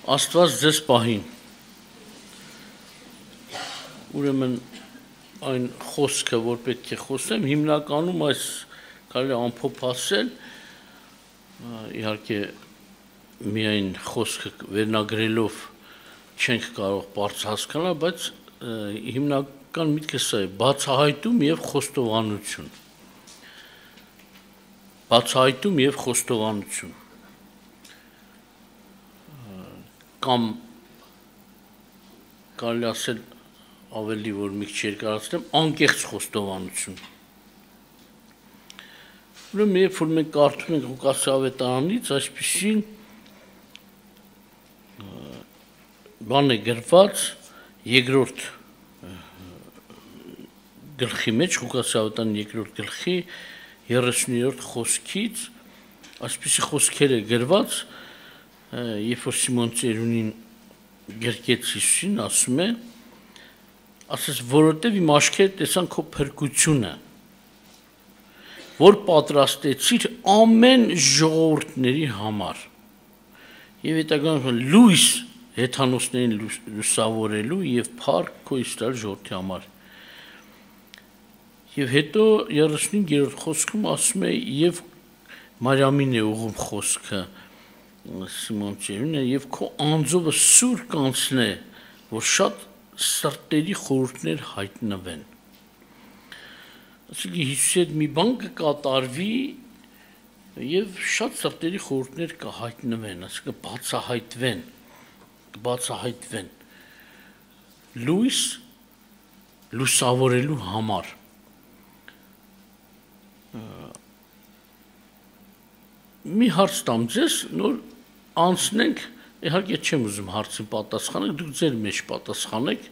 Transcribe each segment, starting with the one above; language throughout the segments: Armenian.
Աստված ձեզ պահին։ Ուրեմն այն խոսքը, որ պետք է խոսեմ, հիմնականում այս կարելի ամփոփ ասել, իհարկե միայն խոսքը վերնագրելով չենք կարող բարձ հասկանալ, բայց հիմնական միտքը սա է՝ բացահայտում եւ խոստովանություն։ Բացահայտում եւ խոստովանություն։ Կամ կարելի ասել ավելի որ մի քիչ երկարացնեմ, անկեղծ խոստովանություն։ Ուրեմն երբ որ մենք կարդում ենք Ղուկասի ավետարանից, այսպիսի բան է գրված երկրորդ գլխի մեջ, Ղուկասի ավետարանի երկրորդ գլխի 30-րդ խոսքից, այսպիսի խոսքեր է գրված, երբ որ Սիմոն Ծերունին գրկեց Հիսուսին, ասում է, ասես, որովհետև իմ աչքերը տեսան քո փրկությունը, որ պատրաստեցիր ամեն ժողովուրդների համար, եւ հետագայում լույս հեթանոսներին լուսավորելու եւ փառք քո Իսրայել ժողովրդի համար։ Եվ հետո 35-րդ խոսքում ասում է, եւ Մարիամին է ուղում խոսքը Սիմոն Ծերունին, եւ քո անձովը սուր կանցնե, որ շատ սրտերի խորհուրդներ հայտնվեն։ Այսինքն Հիսուսի հետ մի բան կկատարվի եւ շատ սրտերի խորհուրդներ կհայտնվեն, այսինքն կբացահայտվեն լույս լուսավորելու համար։ Մի հարց տամ ձեզ, նոր անցնենք, իհարկե չեմ ուզում հարցին պատասխանեք, դուք ձեր մեջ պատասխանեք։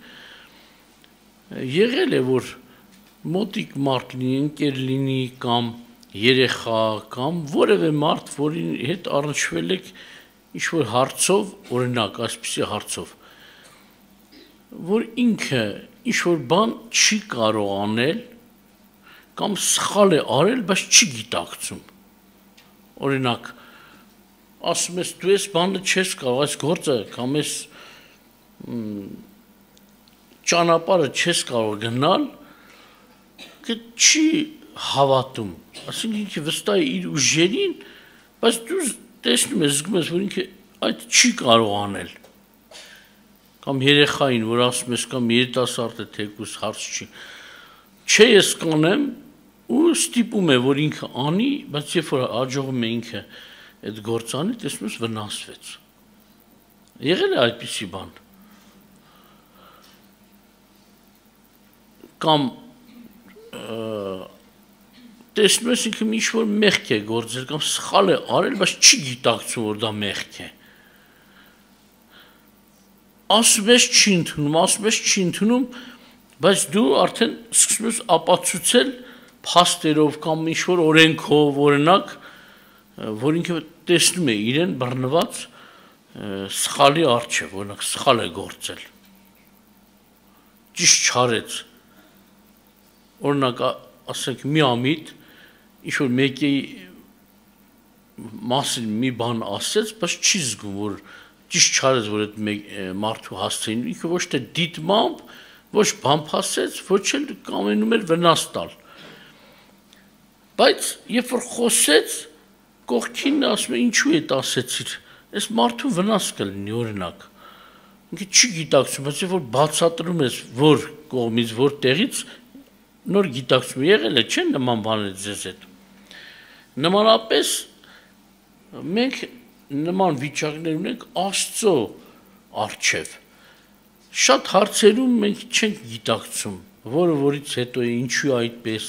Եղել է, որ մոտիկ մարդ լինի, ընկեր լինի կամ երեխա կամ որևէ մարդ, որի հետ առնչվել եք ինչ-որ հարցով, օրինակ, այսպիսի հարցով, որ ինքը ինչ-որ բան չի կարող անել կամ սխալ է արել, բայց չի գիտակցում։ Օրինակ, ասում ես, դու ես բանը չես կարող, այս գործը կամ այս ճանապարհը չես կարող գնալ, չի հավատում, ասինքն ինքը վստահ է իր ուժերին, բայց դու տեսնում ես, զգում ես, որ ինքը այդ չի կարող անել։ Կամ երեխային, որ ասում ես, կամ երիտասարդը թեկուզ հարց չի։ Չէ, ես կանեմ, ու ստիպում է, որ ինքը անի, բայց երբ որ հաջողում է ինքը այդ գործանի, տեսնում ես վնասվեց։ Եղել է այդպիսի բան։ Կամ տեսնում ես ինքը ինչ-որ մեղք է գործել, կամ սխալ է արել, բայց չի գիտակցում, որ դա մեղք է։ Ասում ես չի ընդունում, բայց դու արդեն սկսում ես ապացուցել փաստերով կամ ինչ-որ օրենքով, օրինակ, որ ինքը տեսնում է իրեն բռնված սխալի առջև, օրինակ սխալ է գործել, ճիշտ չարեց, օրինակ ասենք մի ամիտ ինչ-որ մեկի մասին մի բան ասեց, բայց չի զգում, որ ճիշտ չարեց, որ այդ մարդու հասցեին, ինքը ոչ թե դիտմամբ, ոչ բամփասեց, ոչ էլ կամենում էր վնաս տալ, բայց երբ որ խոսեց, կողքին ասում է, ինչու է ասեցիր, այս մարդու վնաս կլինի, օրինակ, ինքը չի գիտակցում, բայց երբ որ բացատրում ես, որ կողմից, որ տեղից, նոր գիտակցում եղել է, չէ՞ նման բաներ ձեզ հետ։ Նմանապես մենք նման վիճակներ ունենք Աստծո առջև։ Շատ հարցերում մենք չենք գիտակցում, որը որից հետո է, ինչու է այդպես։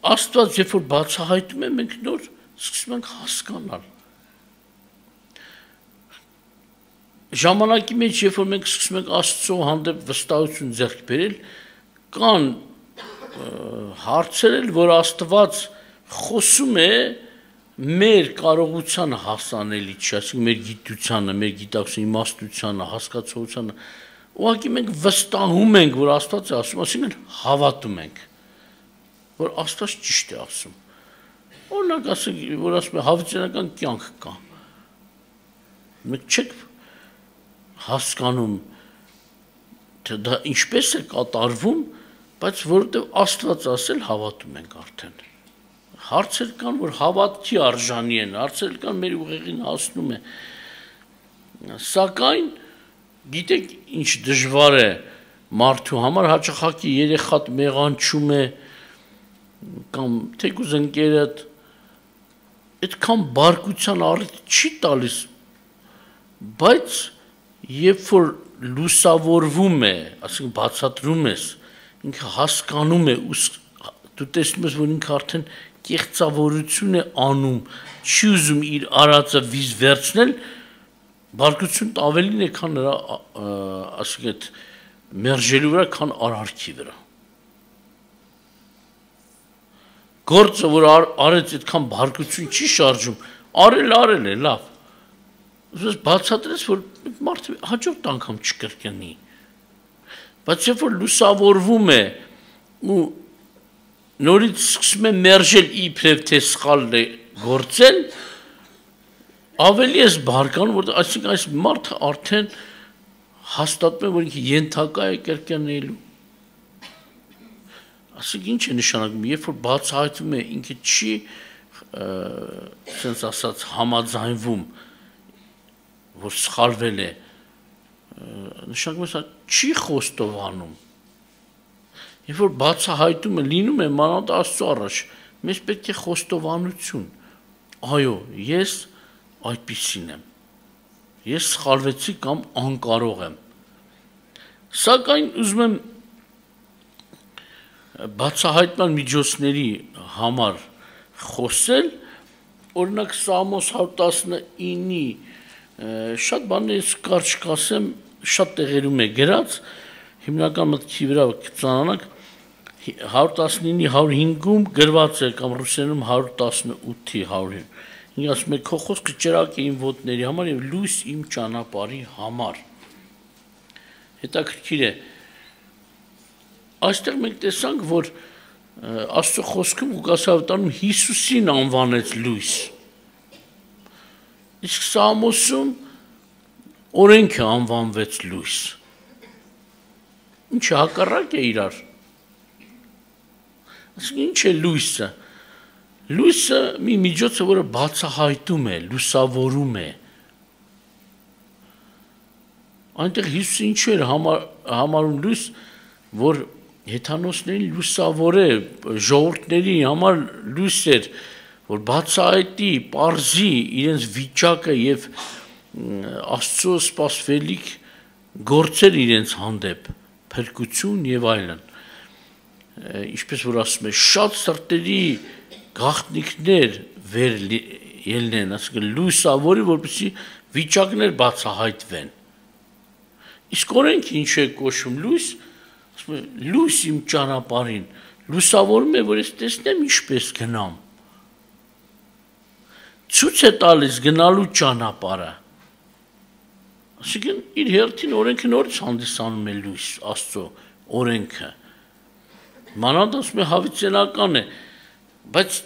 Աստված, երբ որ բացահայտում է, մենք նոր սկսում ենք հասկանալ։ Ժամանակի մեջ, երբ որ մենք սկսում ենք Աստծո հանդեպ վստահություն ձեռք բերել, կան հարցեր, որ Աստված խոսում է մեր կարողությանը հասանելի չի, այսինքն մեր գիտությանը, մեր գիտակցության իմաստությանը, հասկացողությանը, ուղղակի մենք վստահում ենք, որ Աստված է ասում, այսինքն հավատում ենք, որ Աստված ճիշտ է ասում։ Օրինակ ասենք, որ ասում է հավիտենական կյանք կա։ Մենք չեք հասկանում, թե դա ինչպես է կատարվում, բայց որովհետև Աստված ասել հավատում ենք արդեն։ Հարցեր կան, որ հավատքի արժանի են, հարցեր կան, մեր ուղեղին հասնում է։ Սակայն գիտեք ինչ դժվար է մարդու համար, հաճախակի երեխատ մեղանչում է կամ թեկուզ ընկերդ այդքան բարկության առիթ չի տալիս, բայց երբ որ լուսավորվում է, ասենք բացատրում ես, ինքը հասկանում է, դու տեսնում ես, որ ինքը արդեն կեղծավորություն է անում, չի ուզում իր արածը վիզ վերցնել, բարկությունն ավելին է, քան նրա ասենք այդ մերժելու վրա, քան արարքի վրա։ Գործը, որ արեց այդքան բարկություն չի շարժում, արել է, լավ։ Ուզես բացատրես, որ մարդը հաջորդ անգամ չկրկնի։ Բայց երբ որ լուսավորվում է ու նորից սկսում է մերժել իբրև թե սխալն է գործել, ավելի ես բարկանում, որ այսինքն այս մարդը արդեն հաստատում է, որ ինքը ենթակա է կրկնելու։ Ասենք ինչ է նշանակում, երբ որ բացահայտվում է, ինքը չի sense ասած համաձայնվում, որ սխալվել է, նշանակում է, չի խոստովանում։ Երբ որ բացահայտումը լինում է մանավանդ Աստծո առաջ, մեզ պետք է խոստովանություն։ Այո, ես այդպիսին եմ։ Ես սխալվեցի կամ անկարող եմ։ Սակայն ուզում եմ բացահայտման միջոցների համար խոսել, օրինակ Սամոս 119-ի շատ բաներ կարճ կասեմ, շատ տեղերում է գրած, հիմնական մտքի վրա կծանանանք 119-ի 105-ում գրված է կամ ռուսերենում 118-ի 100-ին։ Ինձ ասում է քո խոսքը ճրագ է իմ ոտների համար եւ լույս իմ ճանապարհի համար։ Հետաքրքիր է։ Այստեղ մենք տեսանք, որ Աստծո խոսքում Ղուկաս ավետարանում Հիսուսին անվանեց լույս։ Իսկ Սամոսում օրենքը անվանվեց լույս։ Ինչը հակառակ է իրար։ Այսինքն ինչ է լույսը։ Լույսը մի միջոց է, որը բացահայտում է, լուսավորում է։ Այնտեղ Հիսուսը ինչու էր համարում լույս, որ հեթանոսներին լուսավոր է, ժողովուրդների համար լույս էր, որ բացահայտի, պարզի իրենց վիճակը եւ Աստծո սպասվելիք գործեր իրենց հանդեպ, փրկություն եւ այլն։ Ինչպես որ ասում է, շատ սրտերի գաղտնիքներ վեր ելնեն, ասենք լույսավորի, որպեսզի վիճակներ բացահայտվեն։ Իսկ օրենքը ինչու է կոչվում լույս, ասում է լույս իմ ճանապարհին, լուսավորում է, որ ես տեսնեմ ինչպես գնամ։ Ցույց է տալիս գնալու ճանապարհը։ Այսինքն իր հերթին օրենքը նորից հանդիսանում է լույս, Աստծո օրենքը։ Մանավանդ ասում է հավիտենական է, բայց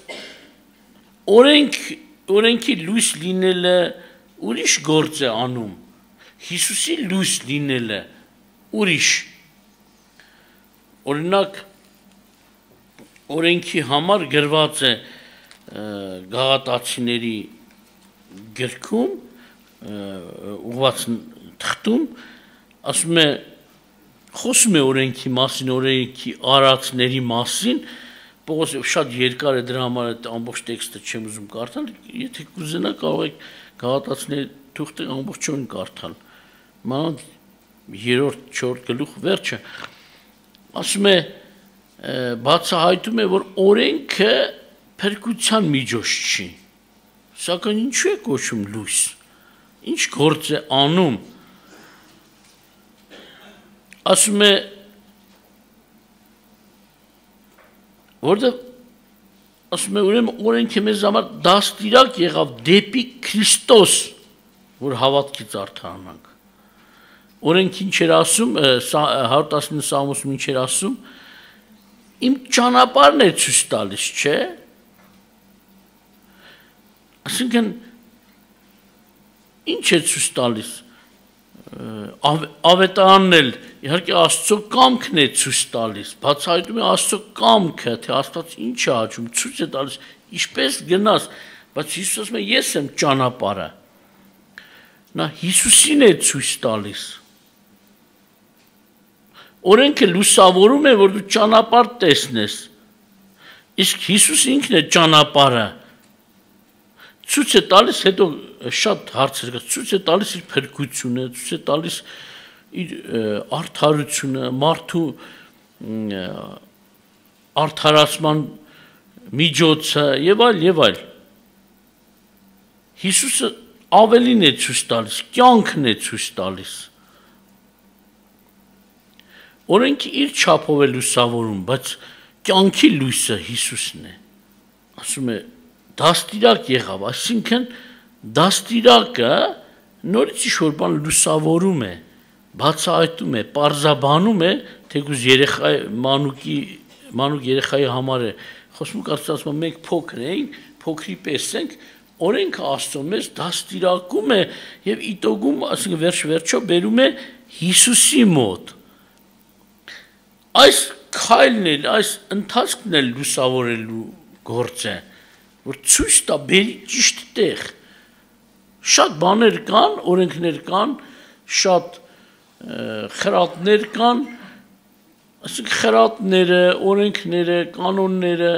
օրենքի լույս լինելը ուրիշ գործ է անում, Հիսուսի լույս լինելը ուրիշ։ Օրինակ օրենքի համար գրված է Գաղատացիների գրքում ուղղված թղթում, ասում է խոսում է օրենքի մասին, օրենքի արածների մասին, Պողոս շատ երկար է դրա համար այդ ամբողջ տեքստը չեմ ուզում կարդալ, եթե կուզենա կարող եք Գաղատացիների թուղթը ամբողջովին կարդալ։ Մանավանդ 3-րդ, 4-րդ գլուխ վերջը ասում է բացահայտում է, որ օրենքը փրկության միջոց չի։ Սակայն ինչու է կոչվում լույս։ Ինչ գործ է անում։ Ասում է որտեղ ասում է ուրեմն օրենքը մեզ համար դաստիարակ եղավ դեպի Քրիստոս, որ հավատքից արդարանանք։ Օրենքը ինչ էր ասում, 119 Սամոսում ինչ էր ասում, իմ ճանապարհն է ցույց տալիս, չէ՞։ Այսինքն ինչ է ցույց տալիս ավետարանն էլ իհարկե Աստծո կամքն է ցույց տալիս, բացահայտում է Աստծո կամքը, թե Աստված ինչ է աջում, ցույց է տալիս, ինչպես գնաս, բայց Հիսուսը ասում է ես եմ ճանապարհը։ Նա Հիսուսին է ցույց տալիս։ Օրենքը լուսավորում է, որ դու ճանապարհ տեսնես, իսկ Հիսուս ինքն է ճանապարհը։ Ցույց է տալիս, հետո շատ հարցեր կա, ցույց է տալիս իր փրկությունը, ցույց է տալիս իր արդարությունը, մարդու արդարացման միջոցը եւ այլ։ Հիսուսը ավելին է ցույց տալիս, կյանքն է ցույց տալիս։ Օրենքը իր չափով է լուսավորում, բայց կյանքի լույսը Հիսուսն է։ Ասում է դաստիարակ եղավ, այսինքն դաստիարակը նորից ինչ-որ բան լուսավորում է, բացահայտում է, պարզաբանում է, թեկուզ մանուկ երեխայի համար է, խոսում կարծում եմ մենք փոքր էինք, փոքրի պես ենք, օրենքը Աստծո մեզ դաստիարակում է եւ իտոգում, ասենք վերջ-վերջո բերում է Հիսուսի մոտ։ Այս քայլն էլ, այս ընթացքն էլ լուսավորելու գործ է, որ ցույց տա բերի ճիշտ տեղ։ Շատ բաներ կան, օրենքներ կան, շատ խրատներ կան, ասենք խրատները, օրենքները, կանոնները,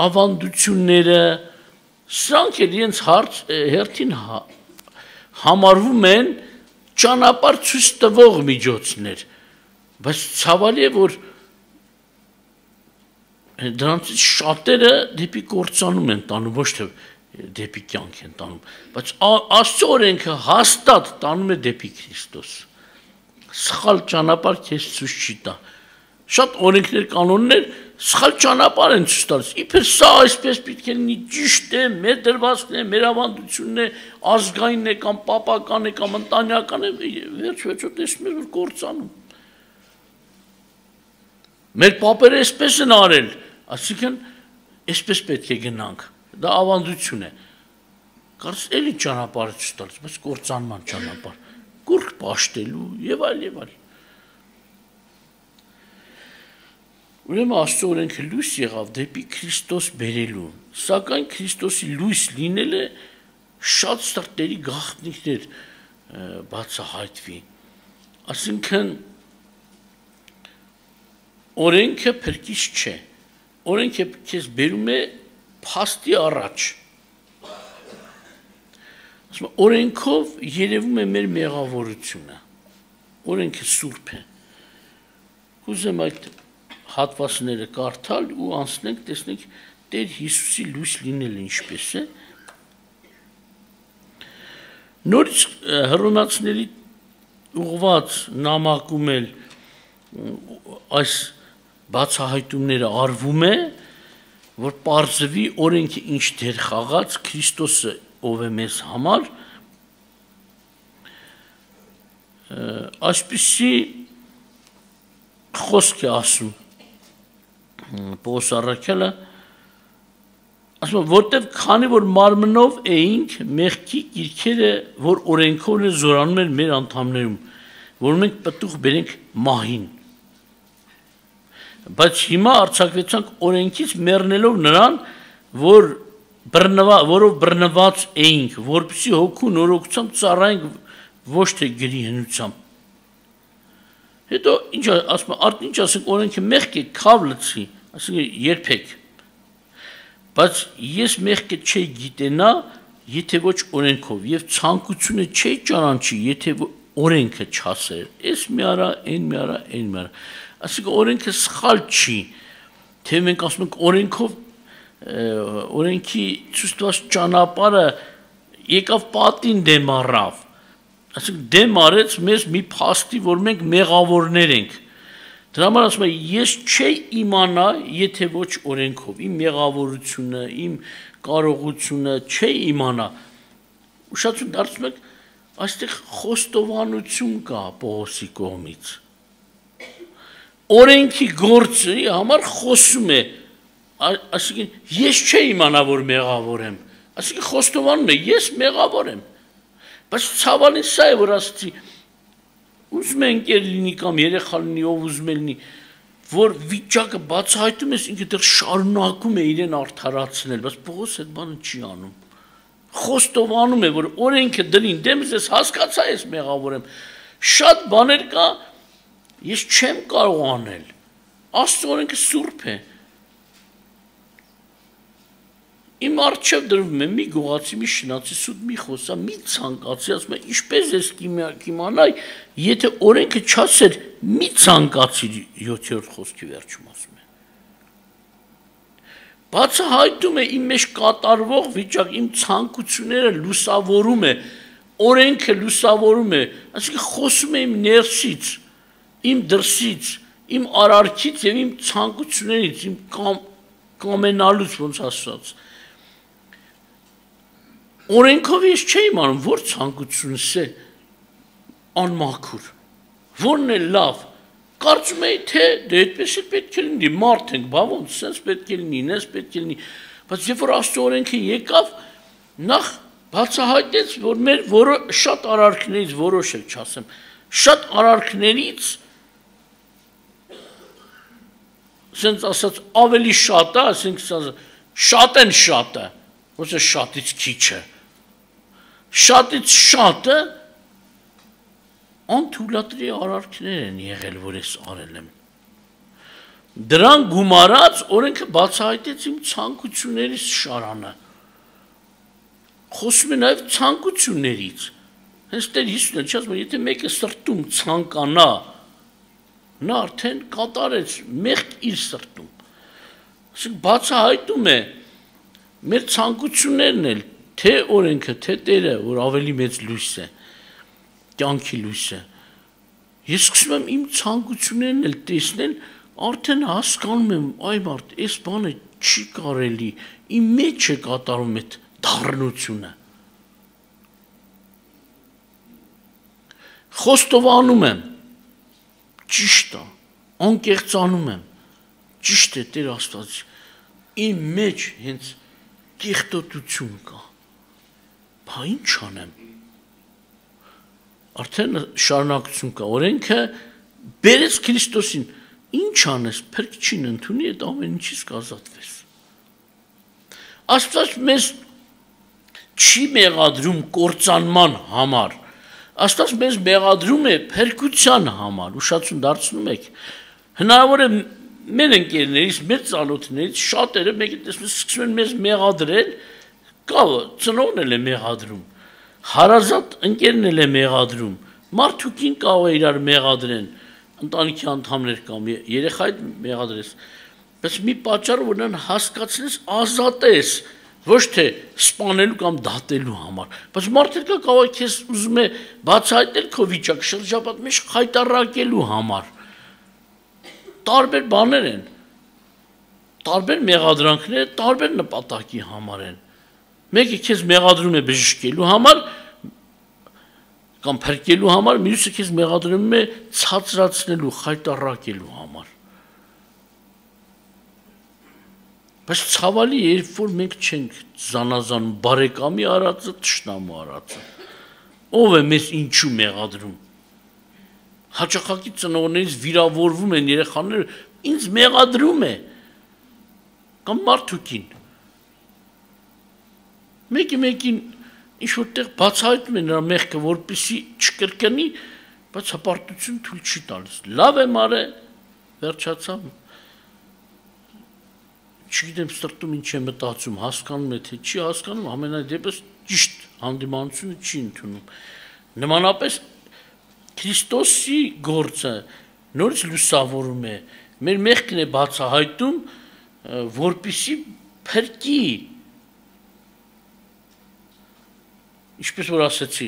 ավանդությունները, սրանք էլ իրենց հերթին համարվում են ճանապարհ ցույց տվող միջոցներ, բայց ցավալի է, որ դրանցից շատերը դեպի կործանում են տանում, ոչ թե դեպի կյանք են տանում, բայց Աստծո օրենքը հաստատ տանում է դեպի Քրիստոս։ Սխալ ճանապարհ քեզ ցույց չի տա։ Շատ օրենքներ, կանոններ սխալ ճանապարհ են ցույց տալիս։ Իբր սա այսպես պետք է լինի, ճիշտ է, մեր դրվածքն է, մեր ավանդությունն է, ազգային է կամ պապական է կամ ընտանեկան է, վերջ-վերջո տեսնում ես, որ կործանում։ Մեր պապերը այսպես են արել, այսինքն այսպես պետք է գնանք։ Դա ավանդություն է։ Կարծես էլի ճանապարհը ցույց տալիս, բայց կործանման ճանապարհ, կուռք պաշտելու եւ այլ։ Ուրեմն Աստծո օրենքը լույս եղավ դեպի Քրիստոս բերելու, սակայն Քրիստոսի լույս լինելը շատ սրտերի գաղտնիքներ բացահայտվի։ Այսինքն օրենքը փրկիչ չէ։ Օրենքը քեզ բերում է փաստի առաջ։ Ասում օրենքով երևում է մեր մեղավորությունը։ Օրենքը սուրբ է։ Կուզեմ այդ հատվածները կարդալ ու անցնենք, տեսնենք Տեր Հիսուսի լույս լինելը ինչպես է։ Նորից հռոմեացիների ուղված նամակում էլ այս բացահայտումները արվում է, որ պարզվի օրենքը ինչ դեր խաղաց, Քրիստոսը ով է մեզ համար, այսպիսի խոսք է ասում Պողոս առաքյալը, ասում որտև քանի որ մարմնով էինք մեղքի կիրքերը, որ օրենքով են զորանում են մեր անդամներում, որ մենք պտուղ բերենք մահին։ Բայց հիմա արձակվեցանք օրենքից մեռնելով նրան, որով բռնված էինք, որպեսզի հոգու նորոգությամբ ծառայենք ոչ թե գրի հնությամբ։ Հետո ինչ ասում, արդ ինչ ասենք օրենքը մեղք է, քավ լցի, ասենք երբեք։ Բայց ես մեղքը չի գիտենա, եթե ոչ օրենքով, եւ ցանկությունը չի ճանաչի, եթե օրենքը չասեր։ Էս մի արա, այն մի արա, այն մի արա։ Ասենք օրենքը սխալ չի, թե մենք ասում ենք օրենքով օրենքի ցույց տված ճանապարհը եկավ պատին դեմ առավ։ Ասենք դեմ արեց մեզ մի փաստի, որ մենք մեղավորներ ենք։ Դրա համար ասում եմ, ես չի իմանա, եթե ոչ օրենքով, իմ մեղավորությունը, իմ կարողությունը չի իմանա։ Ուշադրություն դարձնում եք, այստեղ խոստովանություն կա Պողոսի կողմից։ Օրենքի գործի համար խոսում է, այսինքն ես չի իմանա, որ մեղավոր եմ։ Այսինքն խոստովանում է, ես մեղավոր եմ։ Բայց ցավալին սա է, որ ասացի, ուզում է ընկեր լինի կամ երեխա լինի, ով ուզում է լինի, որ վիճակը բացահայտում ես, ինքը դեռ շարունակում է իրեն արդարացնել, բայց Պողոս այդ բանը չի անում։ Խոստովանում է, որ օրենքը դրին դեմս ես հասկացա ես մեղավոր եմ։ Շատ բաներ կա, ես չեմ կարող անել։ Աստծո օրենքը սուրբ է։ Իմ առջև դրվում է մի գողացի, մի շնացի, սուտ մի խոսա, մի ցանկացի, ասում է, ինչպես ես կիմանայի, եթե օրենքը չասեր, մի ցանկացի 7-րդ խոսքի վերջում ասում է։ Բացահայտում է իմ մեջ կատարվող վիճակ, իմ ցանկությունները լուսավորում է, օրենքը լուսավորում է, այսինքն խոսում է իմ ներսից, իմ դրսից, իմ արարքից եւ իմ ցանկություններից, իմ կամենալուց ոնց ասած։ Օրենքով ես չէի իմանում, որ ցանկությունս է անմաքուր, որն է լավ, կարծում էի, թե դե այդպես է պետք է լինի, մարդ ենք, բա ոնց, սենց պետք է լինի, ինձ պետք է լինի, բայց երբ որ Աստծո օրենքը եկավ, նախ բացահայտեց, որ մեր շատ արարքներից որոշել չասեմ, շատ արարքներից սենց ասած ավելի շատ է, ասենք շատ են շատը, ոնց է շատից քիչը, շատից շատը անթույլատրի արարքներ են եղել, որ ես արել եմ։ Դրան գումարած օրենքը բացահայտեց իմ ցանկություններից շարանը։ Խոսում է նաև ցանկություններից։ Հենց Տեր Հիսուսն էլ չասում է, եթե մեկը սրտում ցանկանա, նա արդեն կատարեց մեղք իր սրտում։ Այսինքն բացահայտում է մեր ցանկություններն էլ, թե օրենքը, թե Տերը, որ ավելի մեծ լույս է, կյանքի լույս է։ Ես սկսում եմ իմ ցանկություններն էլ տեսնել, արդեն հասկանում եմ, այ մարդ, այս բանը չի կարելի, իմ մեջ է կատարում այդ դառնությունը։ Խոստովանում եմ, ճիշտ է, անկեղծանում եմ, ճիշտ է Տեր Աստված, իմ մեջ հենց կեղտոտություն կա, բա ինչ անեմ, արդեն շարունակություն կա, օրենքը բերեց Քրիստոսին, ինչ անես, փրկչին ընդունի, այդ ամեն ինչից կազատվես։ Աստված մեզ չի մեղադրում կործանման համար, Աստված մեզ մեղադրում է փրկության համար, ուշացում դարձնում եք, հնարավոր է մեր ընկերներից, մեր ծանոթներից շատերը մեկը տեսնում սկսում են մեզ մեղադրել, կա ծնողն էլ է մեղադրում, հարազատ ընկերն էլ է մեղադրում, մարդուկին կարող է իրար մեղադրեն, ընտանիքի անդամներ կամ երեխայդ մեղադրես, բայց մի պատճառ որ նրան հասկացնես ազատես, ոչ թե սպանելու կամ դատելու համար, բայց մարդը կարող է քեզ ուզում է բացահայտել քո վիճակը շրջապատ մեջ խայտառակելու համար, տարբեր բաներ են, տարբեր մեղադրանքներ, տարբեր նպատակի համար են, մեկը քեզ մեղադրում է բժշկելու համար, կամ փրկելու համար, մյուսը քեզ մեղադրում է ցածրացնելու, խայտառակելու համար։ Բայց ցավալի է, երբ որ մենք չենք զանազանում բարեկամի արածը, թշնամու արածը։ Ով է մեզ ինչու մեղադրում։ Հաճախակի ծնողներից վիրավորվում են երեխաները, ինձ մեղադրում է, կամ մարդուկին։ Մեկին ինչ որտեղ բացահայտում է նրա մեղքը, որպեսզի չկրկնի, բայց հպարտություն թույլ չի տալիս։ Լավ եմ արել, վերջացավ։ Չգիտեմ սրտում ինչ է մտածում, հասկանում է, թե չի հասկանում, ամենադեպս ճիշտ հանդիմանությունը չի ընդունում։ Նմանապես Քրիստոսի գործը նորից լուսավորում է, մեր մեղքն է բացահայտում, որպեսզի փրկի, ինչպես որ ասացի,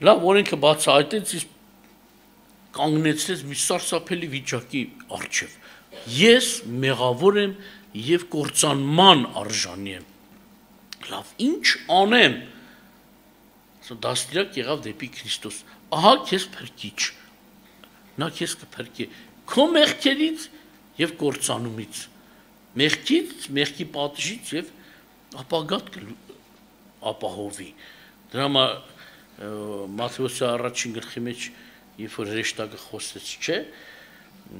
լավ օրենքը բացահայտեց, կանգնեցրեց մի սարսափելի վիճակի առջև։ Ես մեղավոր եմ և կործանման արժանի եմ, լավ, ինչ անեմ, դաստիարակ եղավ դեպի Քրիստոս, ահա քեզ փրկիչ, նա քեզ կփրկի, քո մեղքերից և կործանումից, մեղքից, մեղքի պատժից և ապագատ ապահովի, դրա համար Մատթեոսի առաջին գլխի մեջ երբ որ հրեշտակը խոսեց, չէ,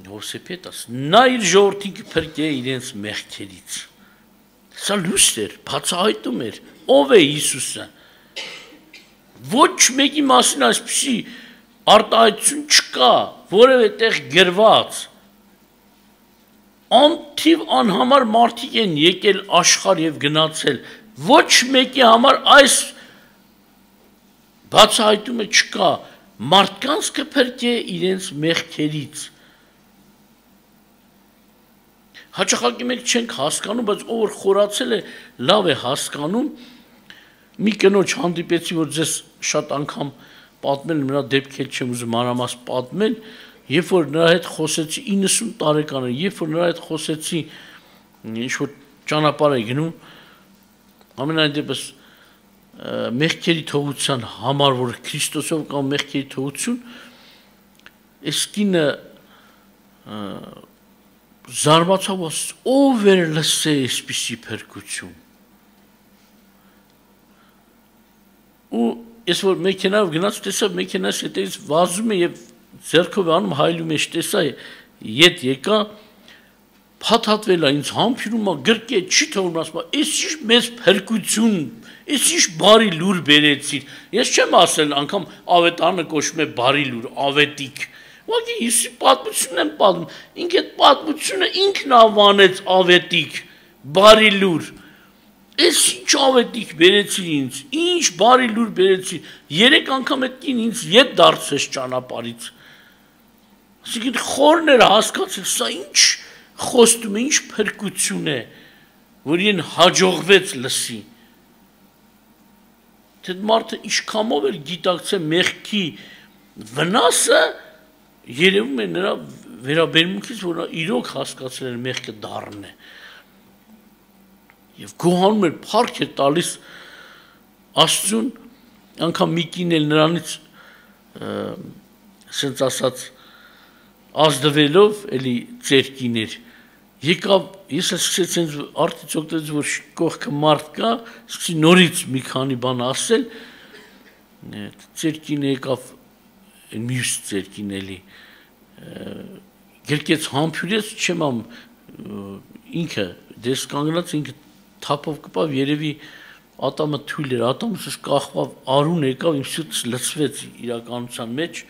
Հովսեփետ ասում, նա իր ժողովրդին կփրկե իրենց մեղքերից։ Սա լույս էր, բացահայտում էր, ով է Հիսուսը։ Ոչ մեկի մասին այսպիսի արտահայտություն չկա, որևէ տեղ գրված։ Անթիվ անհամար մարդիկ են եկել աշխարհ եւ գնացել, ոչ մեկի համար այս բացահայտումը չկա, մարդկանց կփրկե իրենց մեղքերից։ Հաճախակի մենք չենք հասկանում, բայց ով որ խորացել է, լավ է հասկանում։ Մի կնոջ հանդիպեցի, որ ձեզ շատ անգամ պատմել, նրա դեպքեր չեմ ուզում մանրամասն պատմել, երբ որ նրա հետ խոսեցի 90 տարեկան է, երբ որ նրա հետ խոսեցի, ինչ որ ճանապարհ է գնում, ամենայն դեպս մեղքերի թողության համար, որ Քրիստոսով կամ մեղքերի թողություն, այս կինը զարմացավ, ով էր լսե այսպիսի փրկություն։ Ու ես որ մեքենայով գնաց, տեսա մեքենայից հետևից վազում է եւ ձեռքով անում հայլու մեջ, տեսա ետ եկա, փաթաթվել է ինձ համբուրում է, գրկե չի թողնում, ասում է, «Էս ինչ մեծ փրկություն, էս ինչ բարի լուր բերեցիր»։ Ես չեմ ասել, անգամ ավետարանը կոչվում է բարի լուր, ավետիք։ Ուղղակի Հիսուսի պատմությունն եմ պատմում, ինքը այդ պատմությունը ինքն անվանեց ավետիք, բարի լուր։ Էս ինչ ավետիք բերեցիր ինձ, ինչ բարի լուր բերեցիր, 3 անգամ այդ կին ինձ ետ դարձրեց ճանապարհից։ Այսինքն խորն էր հասկացել, սա ինչ խոստում է, ինչ փրկություն է, որ իրեն հաջողվեց լսի։ Թե մարդը ինչքանով էր գիտակցել մեղքի վնասը, երևում է նրա վերաբերմունքից, որ նա իրոք հասկացել էր մեղքը դառն է։ Եվ գոհանում էր, փառք էր տալիս Աստծուն, անգամ մի կին էլ նրանից ասենց ասած ազդվելով էլի ծեր կիներ եկավ, ես սկսեցի արդից օգտվեց, որ կողքը մարդ կա, սկսեցի նորից մի քանի բան ասել, ծեր կինը եկավ, մյուս ծեր կին էլի գրկեց համբուրեց, չեմ ամ ինքը դես կանգնած, ինքը թափով կպավ, երևի ատամը թույլ էր, ատամս կախվավ, արուն եկավ, իմ սուտս լցվեց իրականության մեջ,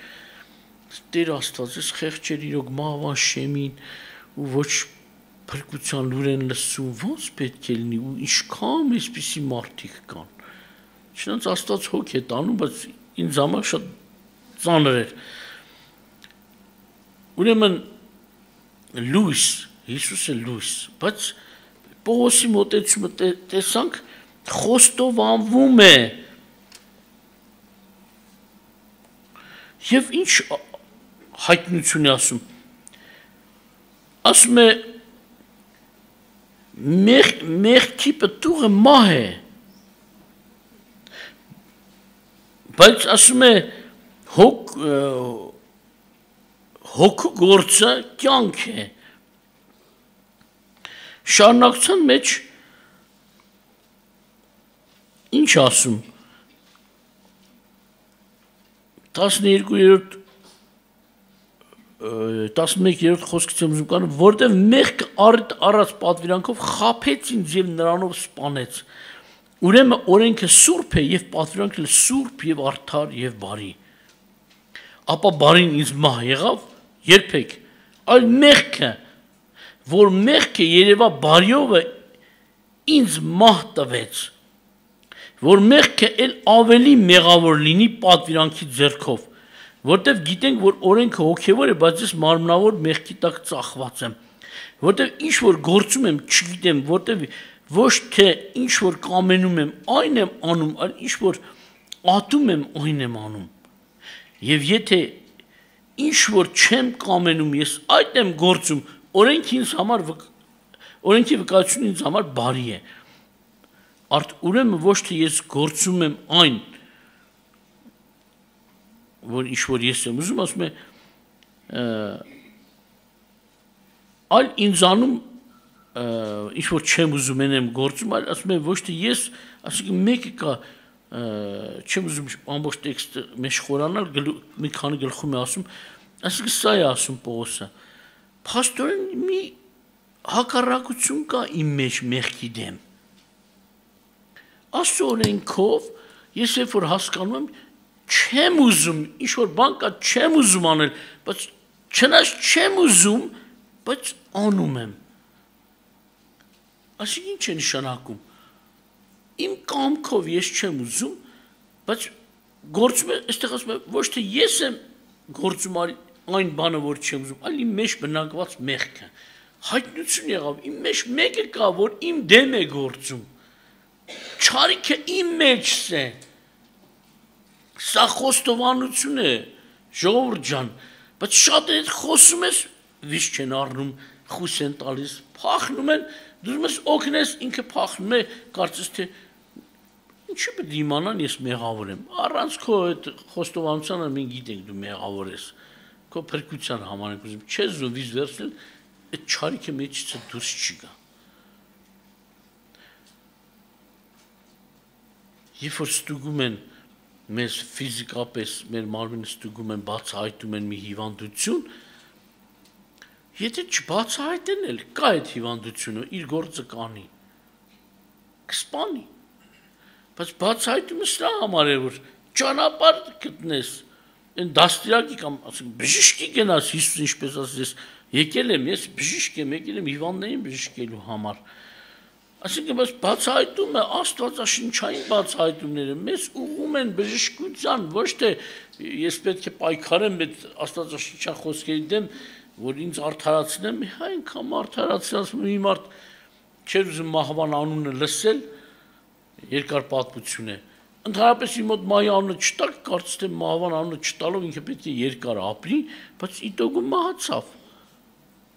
Տեր Աստված, ես խեղճեր իրոք մահվան շեմին ու ոչ փրկության լուր են լսում, ոնց պետք է լինի ու ինչքան այսպիսի մարդիկ կան։ Չնայած Աստված հոգ է տանում, բայց ինձ համար շատ ծանր էր։ Ուրեմն լույս, Հիսուսը լույս, բայց Պողոսի մոտեցումը տեսանք խոստովանվում է։ Եվ ինչ հայտնություն է ասում։ Ասում է մեղքի պտուղը մահ է։ Բայց ասում է հոգու գործը կյանք է։ Շարունակության մեջ ինչ ասում 11-րդ խոսքից եմ ուզում կանում, որտեղ մեղքը առած պատվիրանքով խաբեց ինձ եւ նրանով սպանեց։ Ուրեմն օրենքը սուրբ է եւ պատվիրանքը սուրբ եւ արդար եւ բարի։ Ապա բարին ինձ մահ եղավ, երբեք, այլ մեղքը, որ մեղքը երևա բարիովը ինձ մահ տվեց, որ մեղքը էլ ավելի մեղավոր լինի պատվիրանքի ձեռքով, որտեվ գիտենք, որ օրենքը հոգևոր է, բայց ես մարմնավոր մեղքի տակ ծախված եմ, որտեվ ինչ որ գործում եմ, չգիտեմ, որտեվ ոչ թե ինչ որ կամենում եմ, այն եմ անում, այլ ինչ որ ատում եմ, այն եմ անում։ Եվ եթե ինչ որ չեմ կամենում, ես այդ եմ գործում, օրենքի վկայությունը ինձ համար բարի է։ Ուրեմն ոչ թե ես գործում եմ այն, որ ինչ որ ես եմ ուզում, ասում է, այլ ինձանում ինչ որ չեմ ուզում են եմ գործում, այլ ասում եմ ոչ թե ես, ասում մեկը կա, չեմ ուզում ամբողջ տեքստը մեջ խորանալ, մի քանի գլխում է ասում, այսինքն սա է ասում Պողոսը, փաստորեն մի հակառակություն կա իմ մեջ մեղքի դեմ։ Աստծո օրենքով ես երբ որ հասկանում եմ, չեմ ուզում, ինչ որ բան կա, չեմ ուզում անել, բայց չնայած չեմ ուզում, բայց անում եմ։ Այսինքն ինչ է նշանակում։ Իմ կամքով ես չեմ ուզում, բայց գործում է, այստեղ ասում եմ, ոչ թե ես եմ գործում այն բանը, որ չեմ ուզում, այլ իմ մեջ բնակված մեղքը։ Հայտնություն եղավ, իմ մեջ մեկը կա, որ իմ դեմ է գործում։ Չարիքը իմ մեջս է։ Սա խոստովանություն է, ժողովուրդ ջան, բայց շատ հետ խոսում ես, վիշ չեն առնում, խույս են տալիս, փախնում են, դու ես օգնես, ինքը փախնում է, կարծես թե ինչի պետք է իմանան ես մեղավոր եմ։ Առանց քո այդ խոստովանությանը մենք գիտենք դու մեղավոր ես։ Քո փրկության համար ենք ուզում, չես ուզում վիզ վերցնել, այդ չարիքը մեջից դուրս չի գա։ Երբ որ ստուգում են մեզ ֆիզիկապես, մեր մարմինը ստուգում են, բացահայտում են մի հիվանդություն, եթե չբացահայտեն էլ կա այդ հիվանդությունը, իր գործը կանի, կսպանի, բայց բացահայտումը սրա համար է, որ ճանապարհ գտնես, այն դաստիարակի կամ ասենք բժշկի գնաս, Հիսուս ինչպես ասես, ես եկել եմ, ես բժիշկ եմ, եկել եմ հիվանդներին բժշկելու համար։ Այսինքն բայց բացահայտումը աստվածաշնչային բացահայտումները մեզ ուղղում են բժշկության, ոչ թե ես պետք է պայքարեմ այդ աստվածաշնչյան խոսքերի դեմ, որ ինձ արդարացնեմ, այնքան արդարացնեմ, մի մարդ չէր ուզում մահվան անունը լսել, երկար պատմություն է։ Ընդհանրապես իմ մոտ մահի անունը չտակ, կարծես թե մահվան անունը չտալով ինքը պետք է երկար ապրի, բայց իտոգում մահացավ։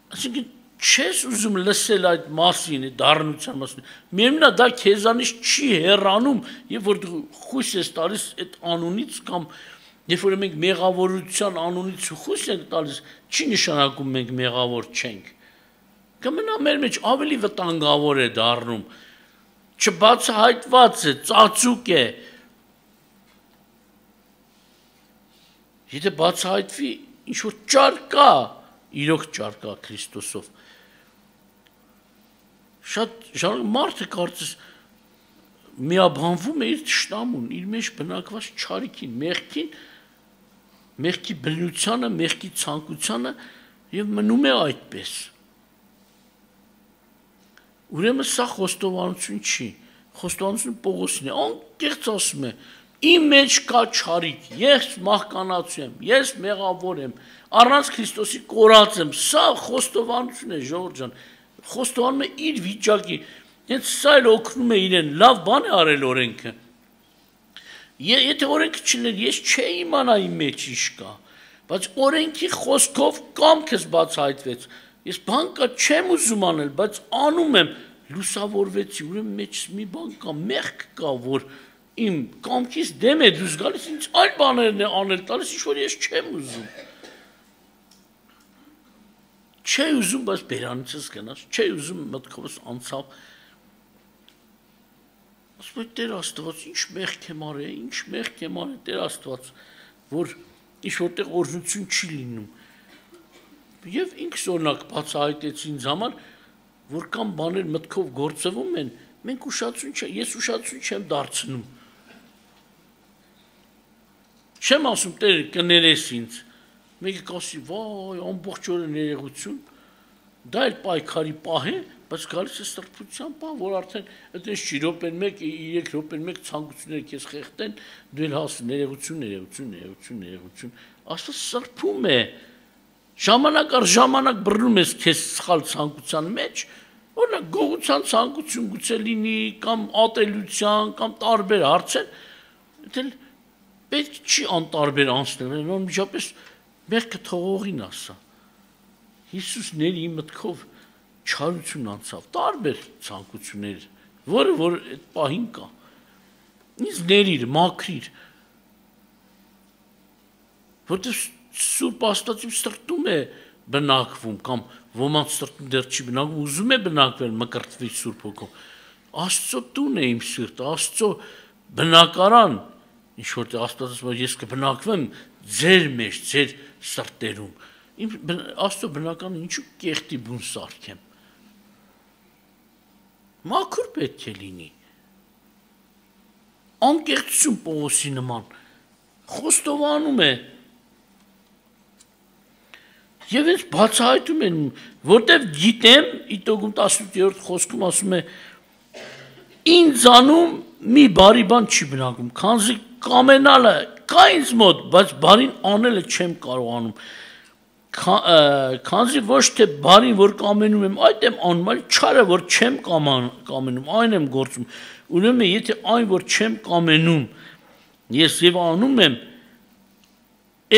Այսինքն չես ուզում լսել այդ մասին, այդ դառնության մասին։ Միևնույն է, դա քեզանից չի հեռանում, երբ որ դու խույս ես տալիս այդ անունից կամ երբ որ մենք մեղավորության անունից խույս ենք տալիս, չի նշանակում մենք մեղավոր չենք։ Կմնա մեր մեջ ավելի վտանգավոր է դառնում, չբացահայտված է, ծածուկ է։ Եթե բացահայտվի, ինչ որ ճար կա, իրոք ճար կա Քրիստոսով։ Շատ մարդը կարծես միաբանվում է իր թշնամուն, իր մեջ բնակված չարիքին, մեղքի բնությանը, մեղքի ցանկությանը եւ մնում է այդպես։ Ուրեմն սա խոստովանություն չի, խոստովանություն Պողոսն է, անկեղծ ասում է, իմ մեջ կա չարիք, ես մահկանացու եմ, ես մեղավոր եմ, առանց Քրիստոսի կորած եմ, սա խոստովանություն է, ժողովուրդ ջան, խոստովանում է իր վիճակի, հենց սա էլ օգնում է իրեն, լավ բան է արել օրենքը։ Եթե օրենքը չլիներ, ես չէի իմանա իմ մեջ ինչ կա, բայց օրենքի խոսքով կամքս բացահայտվեց, ես բան կա չեմ ուզում անել, բայց անում եմ, լուսավորվեցի, ուրեմն մեջս մի բան կա, մեղք կա, որ իմ կամքից դեմ է դուրս գալիս, ինձ այլ բաներն է անել տալիս, ինչ որ ես չեմ ուզում։ Չէի ուզում, բայց բերանիցս գնաց, չէի ուզում մտքովս անցավ։ Ասում եմ Տեր Աստված, ինչ մեղք եմ արել, ինչ մեղք եմ արել Տեր Աստված, որ ինչ որտեղ օրհնություն չի լինում։ Եվ ինքս օրինակ բացահայտեցի ինձ համար, որ կամ բաներ մտքով գործվում են, մենք ես ուշադրություն չեմ դարձնում։ Չեմ ասում Տեր կներես ինձ։ Մեկը կասի, վայ, ամբողջ օրը ներողություն, դա էլ պայքարի պահ է, բայց գալիս է սրբության պահ, որ արդեն այդպես չի րոպեն 1, 3 րոպեն 1 ցանկությունները քեզ խեղդեն, դու էլ հասու ներողություն։ Աստված սրբում է։ Ժամանակ առ ժամանակ բռնում ես քեզ սխալ ցանկության մեջ, օրինակ գողության ցանկություն գուցե լինի, կամ ատելության, կամ տարբեր հարցեր, դա պետք չի անտարբեր անցնել, անմիջապես մեղքը թողողին ասա։ Հիսուս ների մտքով չարություն անցավ, տարբեր ցանկություններ, որը որ այդ պահին կա։ Ինձ ներիր, մաքրիր։ Որտեղ Սուրբ Աստվածի սրտում է բնակվում կամ ոմանց սրտում դեռ չի բնակվում, ուզում է բնակվել մկրտվի Սուրբ Հոգով։ Աստծո տուն է իմ սիրտը, Աստծո բնակարան, ինչ որտեղ Աստված ասում է, ես կբնակվեմ ձեր մեջ, ձեր սրտերում։ Իմ Աստծո բնականը ինչու կեղտի բուն սարքեմ։ Մաքուր պետք է լինի։ Անկեղծություն Պողոսի նման խոստովանում է։ Եվ ես բացահայտում եմ, որտեվ գիտեմ, Իտոգում 18-րդ խոսքում ասում է, ինձանում մի բարի բան չի բնակում, քանզի կամենալը կա ինձ մոտ, բայց բարին անելը չեմ կարողանում, քանզի ոչ թե բարին, որ կամենում եմ, այդ եմ անում, այլ չարը, որ չեմ կամենում, այն եմ գործում, ուրեմն եթե այն, որ չեմ կամենում, ես եւ անում եմ,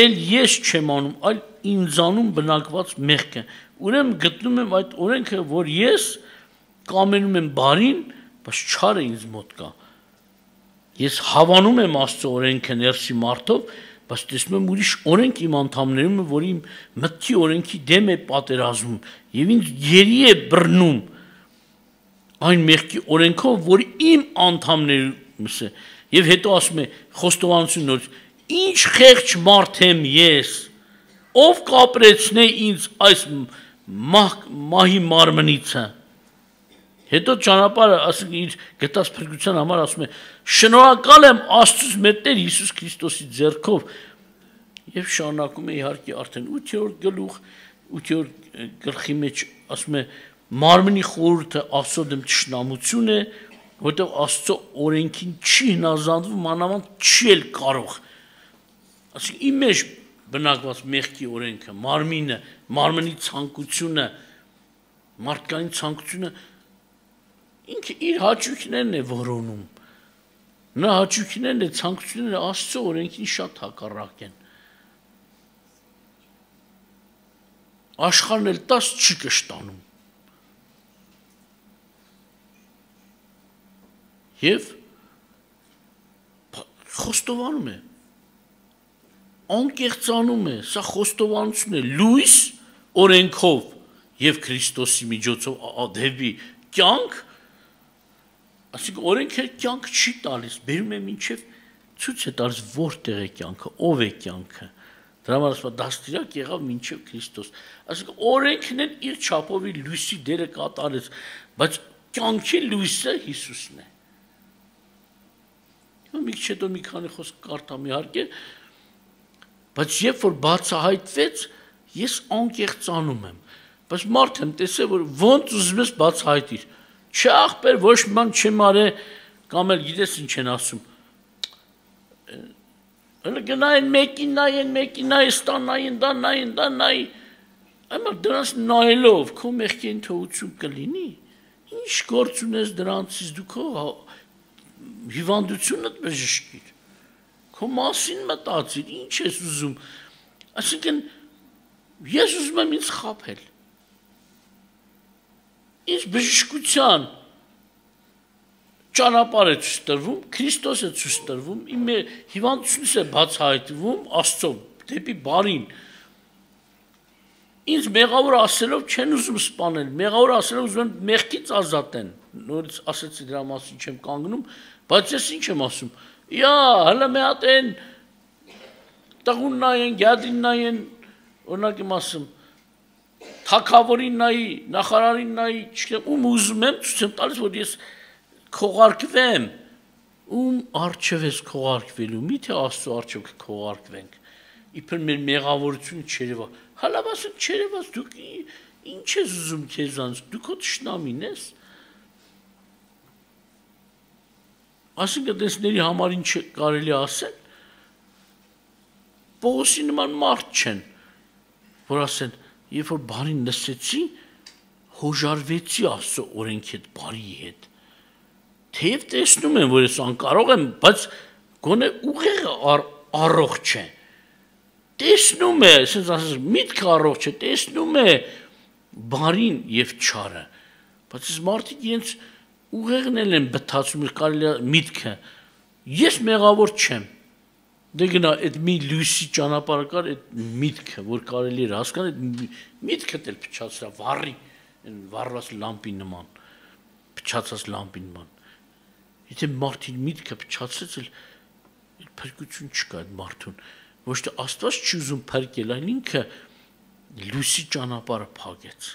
էլ ես չեմ անում, այլ ինձանում բնակված մեղքը, ուրեմն գտնում եմ այդ օրենքը, որ ես կամենում եմ բարին, բայց չարը ինձ մոտ կա։ Ես հավանում եմ Աստծո օրենքը ներսի մարդով, բայց տեսնում եմ ուրիշ օրենք իմ անդամներում, որ իմ մտքի օրենքի դեմ է պատերազմում եւ ինձ գերի է բռնում այն մեղքի օրենքով, որ իմ անդամներումս է։ Եվ հետո ասում է խոստովանություն նոր, ինչ խեղճ մարդ եմ ես, ով կապրեցնե ինձ այս մահի մարմնիցը։ Հետո ճանապարհը, ասենք իր գտած փրկության համար ասում է. շնորհակալ եմ Աստծուց մեր Տեր Հիսուս Քրիստոսի ձեռքով եւ շարունակում է իհարկե արդեն 8-րդ գլուխ 8-րդ գլխի մեջ ասում է մարմնի խորհուրդը Աստծո դեմ ճշնամություն է, որտեղ Աստծո օրենքին չի հնազանդվում, մանավանդ չի էլ կարող։ Ասենք իմ մեջ բնակված մեղքի օրենքը, մարմնի ցանկությունը, մարդկային ցանկությունը ինքը իր հաճույքներն է որոնում։ Նա հաճույքներն է, ցանկությունները Աստծո օրենքին շատ հակառակ են։ Աշխարհն էլ 10 չի կշտանում։ Եվ խոստովանում է, անկեղծանում է, սա խոստովանություն է, լույս օրենքով եւ Քրիստոսի միջոցով դեպի կյանք, ասենք օրենքը կյանք չի տալիս, բերում է մինչև ցույց է տալիս որտեղ է կյանքը, ով է կյանքը։ Դրա համար ասում է դաստիարակ եղավ մինչև Քրիստոս։ Ասենք օրենքն էլ իր չափով լույսի դերը կատարեց, բայց կյանքի լույսը Հիսուսն է։ Մի քիչ հետո մի քանի խոսք կարդամ իհարկե, բայց երբ որ բացահայտվեց, ես անկեղծանում եմ, բայց մարդ եմ տեսել, որ ոնց ուզում ես բացահայտիր։ Չէ ախպեր, ոչ մի բան չեմ արել, կամ էլ գիտես ինչ են ասում։ Հələ գնային մեկին նայեն, ստանային, դա նայի։ Այմա դրանց նայելով քո մեղքին թողություն կլինի։ Ինչ գործ ունես դրանցից դու քո հիվանդությունդ բժշկիր։ Քո մասին մտածիր, ինչ ես ուզում։ Այսինքն ես ուզում եմ ինձ խաբել։ Ինձ բժշկության ճանապարհ է ցույց տրվում, Քրիստոս է ցույց տրվում, իմ հիվանդությունս է բացահայտվում Աստծո դեպի բարին։ Ինձ մեղավոր ասելով չեն ուզում սպանել, մեղավոր ասելով ուզում են մեղքից ազատեն։ Նորից ասեցի դրա մասին չեմ կանգնում, բայց ես ինչ եմ ասում։ Իա, հələ մի հատ են տղուն նայեն, գյադին նայեն, օրինակ եմ ասում, թագավորին նայի, նախարարին նայի, չգիտեմ, ում ուզում եմ, ցույց եմ տալիս, որ ես քողարկվեմ, ում առջև ես քողարկվելու, միթե Աստծո առջև կքողարկվենք, իբր մեր մեղավորությունը չերևա, հալավ ասենք չերևաց, դուք ինչ ես ուզում քեզանց, դու քո թշնամին ես, ասենք դեսների համար ինչ կարելի ասել, Պողոսի նման մարդ չեն, որ ասեն, երբ որ բարին լսեցի, հոժարվեցի Աստծո օրենքի հետ, բարի հետ, թեև տեսնում եմ, որ ես անկարող եմ, բայց գոնե ուղեղը առողջ է, տեսնում է, ասես ասես միտքը առողջ է, տեսնում է բարին եւ չարը, բայց ես մարդիկ իրենց ուղեղն էլ են բթացում, կարելի է միտքը, ես մեղավոր չեմ, դե գնա այդ մի լույսի ճանապարհը կար, այդ միտքը, որ կարելի էր հասկանալ, միտքը դել փչացրա վառի, վառված լամպի նման, փչացած լամպի նման։ Եթե մարդին միտքը փչացրեց, փրկություն չկա այդ մարդուն։ Ոչ թե Աստված չի ուզում փրկել, այլ ինքը լույսի ճանապարհը փակեց։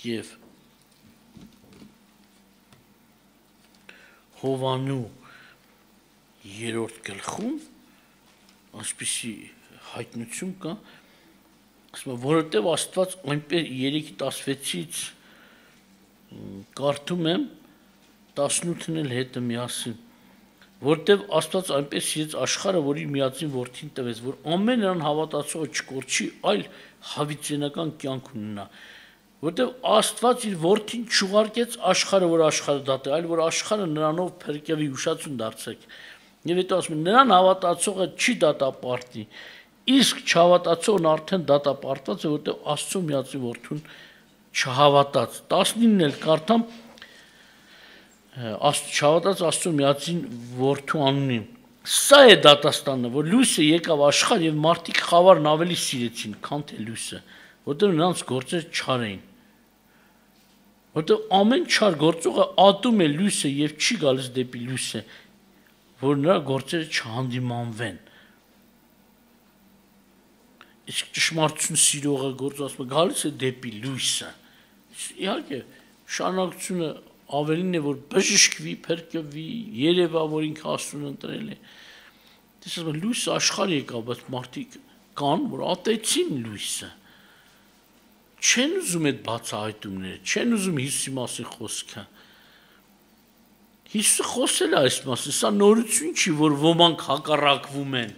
Եվ Հովանու 3-րդ գլխում այսպիսի հայտնություն կա, ասում է, որովհետև Աստված այնպես 3:16-ից կարդում եմ 18-ն էլ հետը միասին, որովհետև Աստված այնպես սիրեց աշխարհը, որ իր միածին որդին տվեց, որ ամեն նրան հավատացողը չկորչի, այլ հավիտենական կյանք ունենա։ Որտեւ Աստված իր որդին չուղարկեց աշխարհը, որ աշխարհը դատի, այլ որ աշխարհը նրանով փրկեվի, ուշացուն դարձեք։ Եվ հետո ասում են, նրան հավատացողը չի դատապարտի, իսկ չհավատացողն արդեն դատապարտված է, որտեւ Աստծո միածին որդուն չհավատաց։ 19-ն էլ կարդամ, չհավատաց Աստծո միածին որդու անունին։ Սա է դատաստանը, որ լույսը եկավ աշխարհ եւ մարդիկ խավարն ավելի սիրեցին, քան թե լույսը, որտեղ նրանց գործերը չար էին։ Որտեղ ամեն չար գործողը ատում է լույսը եւ չի գալիս դեպի լույսը, որ նրա գործերը չհանդիմանվեն։ Իսկ ճշմարտություն սիրողը գործը ասում է գալիս է դեպի լույսը։ Իհարկե, շարունակությունը ավելին է, որ բժշկվի, փրկվի, երևա, որ ինքը Աստծուն ընտրել է։ Տեսնում եք, լույսը աշխարհ եկավ, բայց մարդիկ կան, որ ատեցին լույսը։ Չեն ուզում այդ բացահայտումները, չեն ուզում Հիսուսի մասին խոսքը։ Հիսուսը խոսել է այս մասին, սա նորություն չի, որ ոմանք հակառակվում են։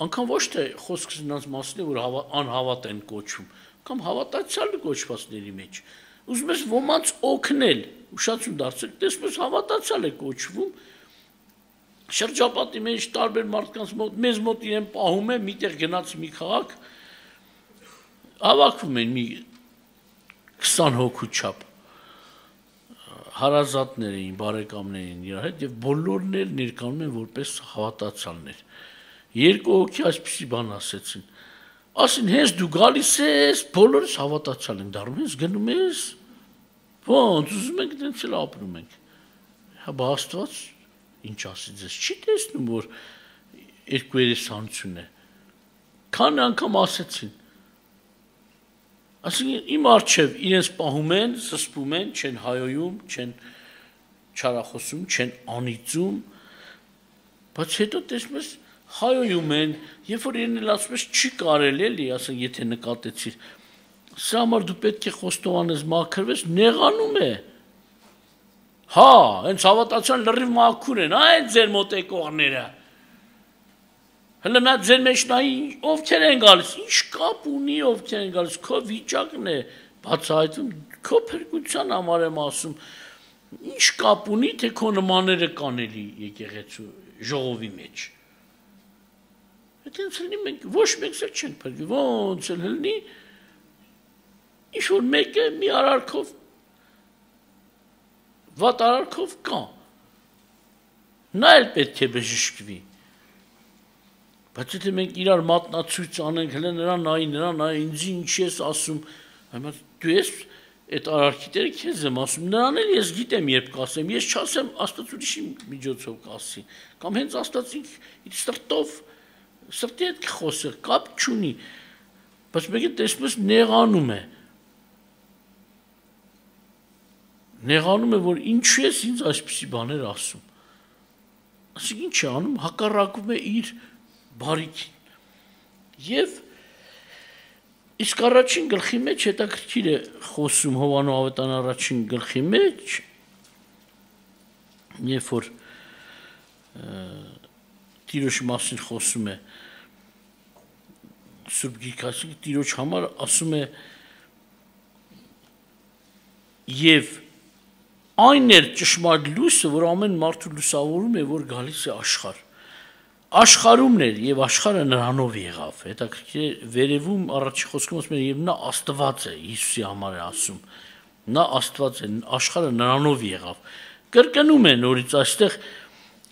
Անկամ ոչ թե խոսքս նրանց մասին է, որ անհավատ են կոչվում, կամ հավատացյալ կոչվածների մեջ։ Ուզում ես ոմանց օգնել, ուշացում դարձեք, տեսնում ես հավատացյալ է կոչվում, շրջապատի մեջ տարբեր մարդկանց մոտ, մեզ մոտ իրեն պահում է, միտեղ գնաց մի քաղաք, հավաքվում են մի 20 հոգու չափ հարազատներ էին, բարեկամներ էին իրար հետ եւ բոլորն էլ ներկայանում են որպես հավատացյալներ։ Երկու հոգի այսպիսի բան ասեցին։ Ասին, հենց դու գալիս ես, բոլորս հավատացյալ ենք դառնում, հենց գնում ես, ոնց ուզում ենք դենց էլ ապրում ենք։ Հա Աստված ինչ ասի ձեզ, չի տեսնում, որ երկու երեսանություն է։ Քան անգամ ասեցին։ Այսինքն իմ առջև իրենց պահում են, զսպում են, չեն հայոյում, չեն չարախոսում, չեն անիծում, բայց հետո տեսնում ես հայոյում են, երբ որ իրեն էլ ասում ես չի կարելի էլի, ասենք եթե նկատեցիր, սա համար դու պետք է խոստովանես, մաքրվես, նեղանում է։ Հա, հենց հավատացան լրիվ մաքուր են, այն ձեր մոտ եկողները։ Հələ նա ձեր մեջ նայի ովքեր են գալիս, ինչ կապ ունի ովքեր են գալիս, քո վիճակն է բացահայտվում, քո փրկության համար եմ ասում, ինչ կապ ունի, թե քո նմանները կան էլի եկեղեցու ժողովի մեջ։ Այդտենց լինի մենք ոչ մեկս էլ չենք փրկի, ոնց էլ լինի, ինչ որ մեկը մի արարքով, վատ արարքով կա, նա էլ պետք է բժշկվի։ Բայց եթե մենք իրար մատնացույց անենք, հələ նրան նայի, ինձ ինչ ես ասում, այմա դու ես այդ արարքիտերը քեզ եմ ասում, նրան էլ ես գիտեմ երբ կասեմ, ես չասեմ Աստված ուրիշի միջոցով կասի, կամ հենց Աստված իր սրտով, սրտի հետ կխոսի, կապ չունի, բայց մեկը տեսնում ես նեղանում է, որ ինչու ես ինձ այսպիսի բաներ ասում, ասիկ ինչ է անում, հակառակում է իր բարիքին։ Եվ իսկ առաջին գլխի մեջ հետաքրքիր է խոսում Հովանու ավետարան առաջին գլխի մեջ, երբ որ Տիրոջ մասին խոսում է Սուրբ Գիրքը, Տիրոջ համար ասում է եւ այն էր ճշմարիտ լույսը, որ ամեն մարդու լուսավորում է, որ գալիս է աշխարհ։ Աշխարհումն էր եւ աշխարհը նրանով եղավ։ Հետաքրքիր վերևում առաջի խոսքում ասում է եւ նա Աստված է, Հիսուսի համար է ասում։ Նա Աստված է, աշխարհը նրանով եղավ։ Կրկնում է նորից այստեղ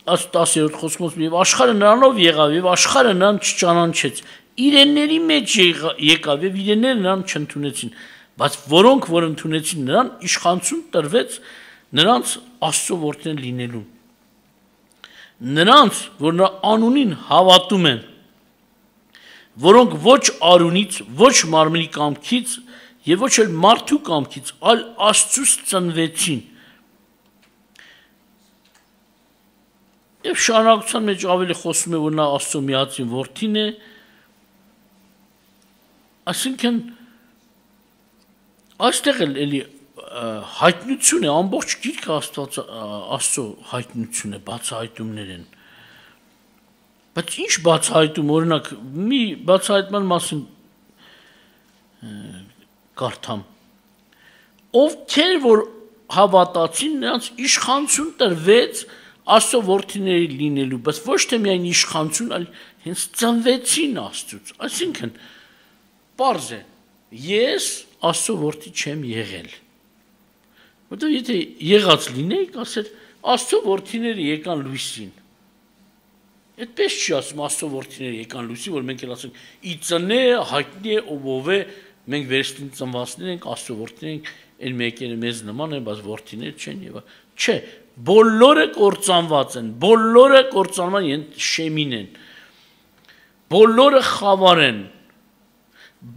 10-րդ խոսքով եւ աշխարհը նրանով եղավ եւ աշխարհը նրան չճանաչեց իրենների մեջ եկավ եւ իրենները նրան չընդունեցին բայց որոնք որ ընդունեցին նրան իշխանություն տրվեց նրանց Աստծո որդիներ լինելու նրանց որ նրա անունին հավատում են որոնք ոչ արունից ոչ մարմնի կամքից եւ ոչ էլ մարդու կամքից այլ Աստծուց ծնվեցին եւ շարունակության մեջ ավելի խոսում է որ նա Աստծո միածին որդին է այսինքն այստեղ էլի հայտնություն է ամբողջ գիրքը Աստծո հայտնություն է բացահայտումներ են բայց ինչ բացահայտում օրինակ մի բացահայտման մասին կարդամ ովքեր որ հավատացին նրանց իշխանություն տրվեց Աստծո որդիների լինելու բայց ոչ թե միայն իշխանություն այլ հենց ծնվեցին Աստծուց այսինքն պարզ է ես Աստծո որդի չեմ եղել որտեղ եթե եղած լինեի ասեր Աստծո որդիները եկան լույսին այդպես չի ասում Աստծո որդիները եկան լույսին որ մենք էլ ասենք ի ծնե հայտնի է ով է մենք վերստին ծնվածներ ենք Աստծո որդիներ ենք այն մեկերը մեզ նման են բայց որդիներ չեն եւ չէ բոլորը կործանված են բոլորը կործանման շեմին են բոլորը խավար են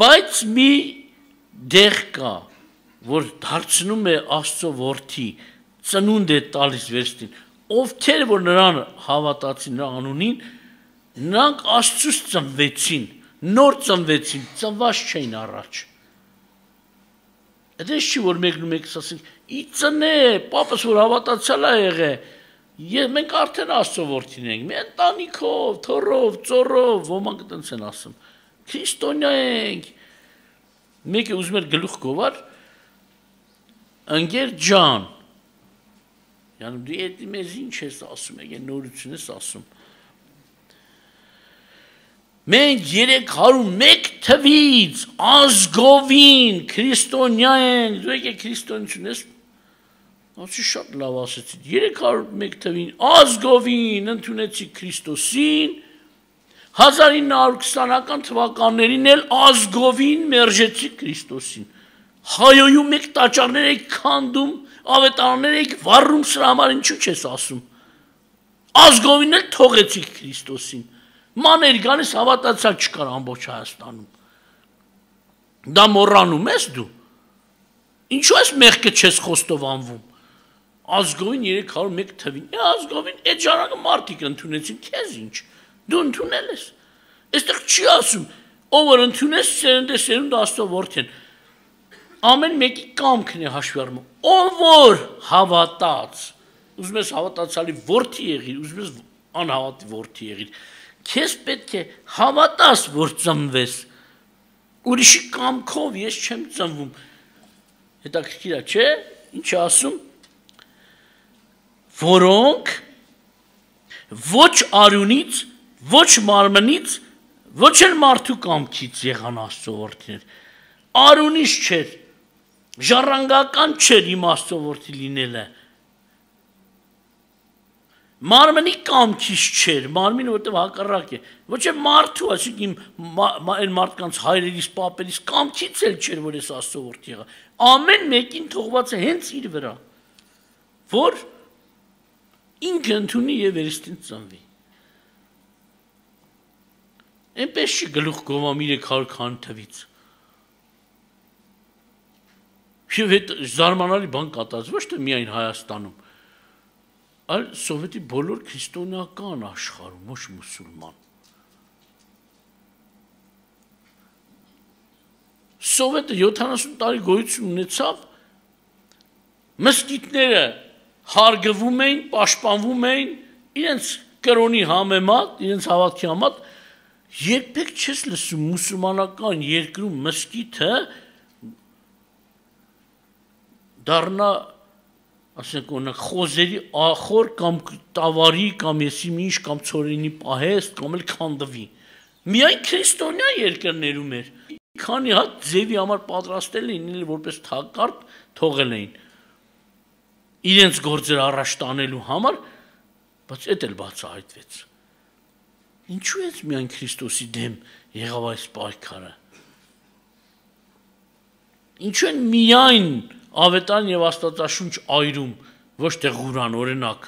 բայց մի դեղ կա որ դարձնում է Աստծո որդի ծնունդ է տալիս վերստին ովքեր որ նրան հավատացին նրա անունին նրանք Աստծուց ծնվեցին նոր ծնվեցին ծնված չէին առաջ Դες չի որ մեկն ասենք ի ծնե պապս որ հավատացյալ է եղել եւ մենք արդեն Աստծո որդին ենք մի ընտանիքով թորով ծորով ոմանք այդպես են ասում քրիստոնյա ենք մեկը ուզում էր գլուխ գովար ընկեր ջան յանում դու էդ մեզ ինչ ես ասում եք նորություն ես ասում մենք 301 թվից ազգովին քրիստոնյա ենք դու եք քրիստոնություն ես ասի շատ լավ ասեցիք 301 թվին ազգովին ընդունեցի Քրիստոսին 1920-ական թվականներին էլ ազգովին մերժեցի Քրիստոսին հայոյում եք տաճարներ եք քանդում ավետարաններ եք վառում սրա համար ինչու չես ասում ազգովին էլ թողեցիք Քրիստոսին մաներ գալիս հավատացյալ չկար ամբողջ Հայաստանում դա մոռանում ես դու ինչու ես մեղքը չես խոստովանվում ազգովին 301 թվին ազգովին այդ ժառանգը մարդիկ ընդունեցին քեզ ինչ դու ընդունել ես այստեղ չի ասում ով որ ընդունես սերունդ Աստծո որդին ամեն մեկի կամքն է հաշվի առնում ով որ հավատաց ուզում ես հավատացյալի որդի եղիր ուզում ես անհավատի որդի եղիր քեզ պետք է հավատաս որ ծնվես ուրիշի կամքով ես չեմ ծնվում հետաքրքիր է չէ ինչ ասում որոնք ոչ արյունից ոչ մարմնից ոչ էլ մարդու կամքից եղան Աստծո որդիներ արյունից չէր ժառանգական չէր իմ Աստծո որդի լինելը մարմնի կամքից չէր մարմինը որտեղ հակառակ է ոչ է մարդու այսինքն այն մարդկանց հայրերից պապերից կամքից էլ չէր որ ես Աստծո որդի եղա ամեն մեկին թողված է հենց իր վրա որ ինքը ընդունի եւ վերստին ծնվի այնպես չի գլուխ գովում 300 քան թվից եւ այդ զարմանալի բան կատարեց ոչ թե միայն Հայաստանում այլ սովետի բոլոր քրիստոնեական աշխարհում ոչ մուսուլման սովետը 70 տարի գոյություն ունեցավ մսկիթները հարգվում էին պաշտպանվում էին իրենց կրոնի համեմատ իրենց հավատքի համեմատ երբեք չես լսում մուսուլմանական երկրում մսկիթը դառնա ասենք օրինակ խոզերի ախոր կամ տավարի կամ եսի ինչ կամ ցորենի պահեստ կամ էլ քանդվի միայն քրիստոնյա երկրներում էր քանի հատ ձևի համար պատրաստել էին որպես թակարդ թողել էին իրենց գործերը առաջ տանելու համար բայց էդ էլ բացահայտվեց։ Ինչու է միայն Քրիստոսի դեմ եղավ այս պայքարը։ Ինչու են միայն ավետարան եւ Աստվածաշունչ այրում, ոչ թե Ղուրան, օրինակ։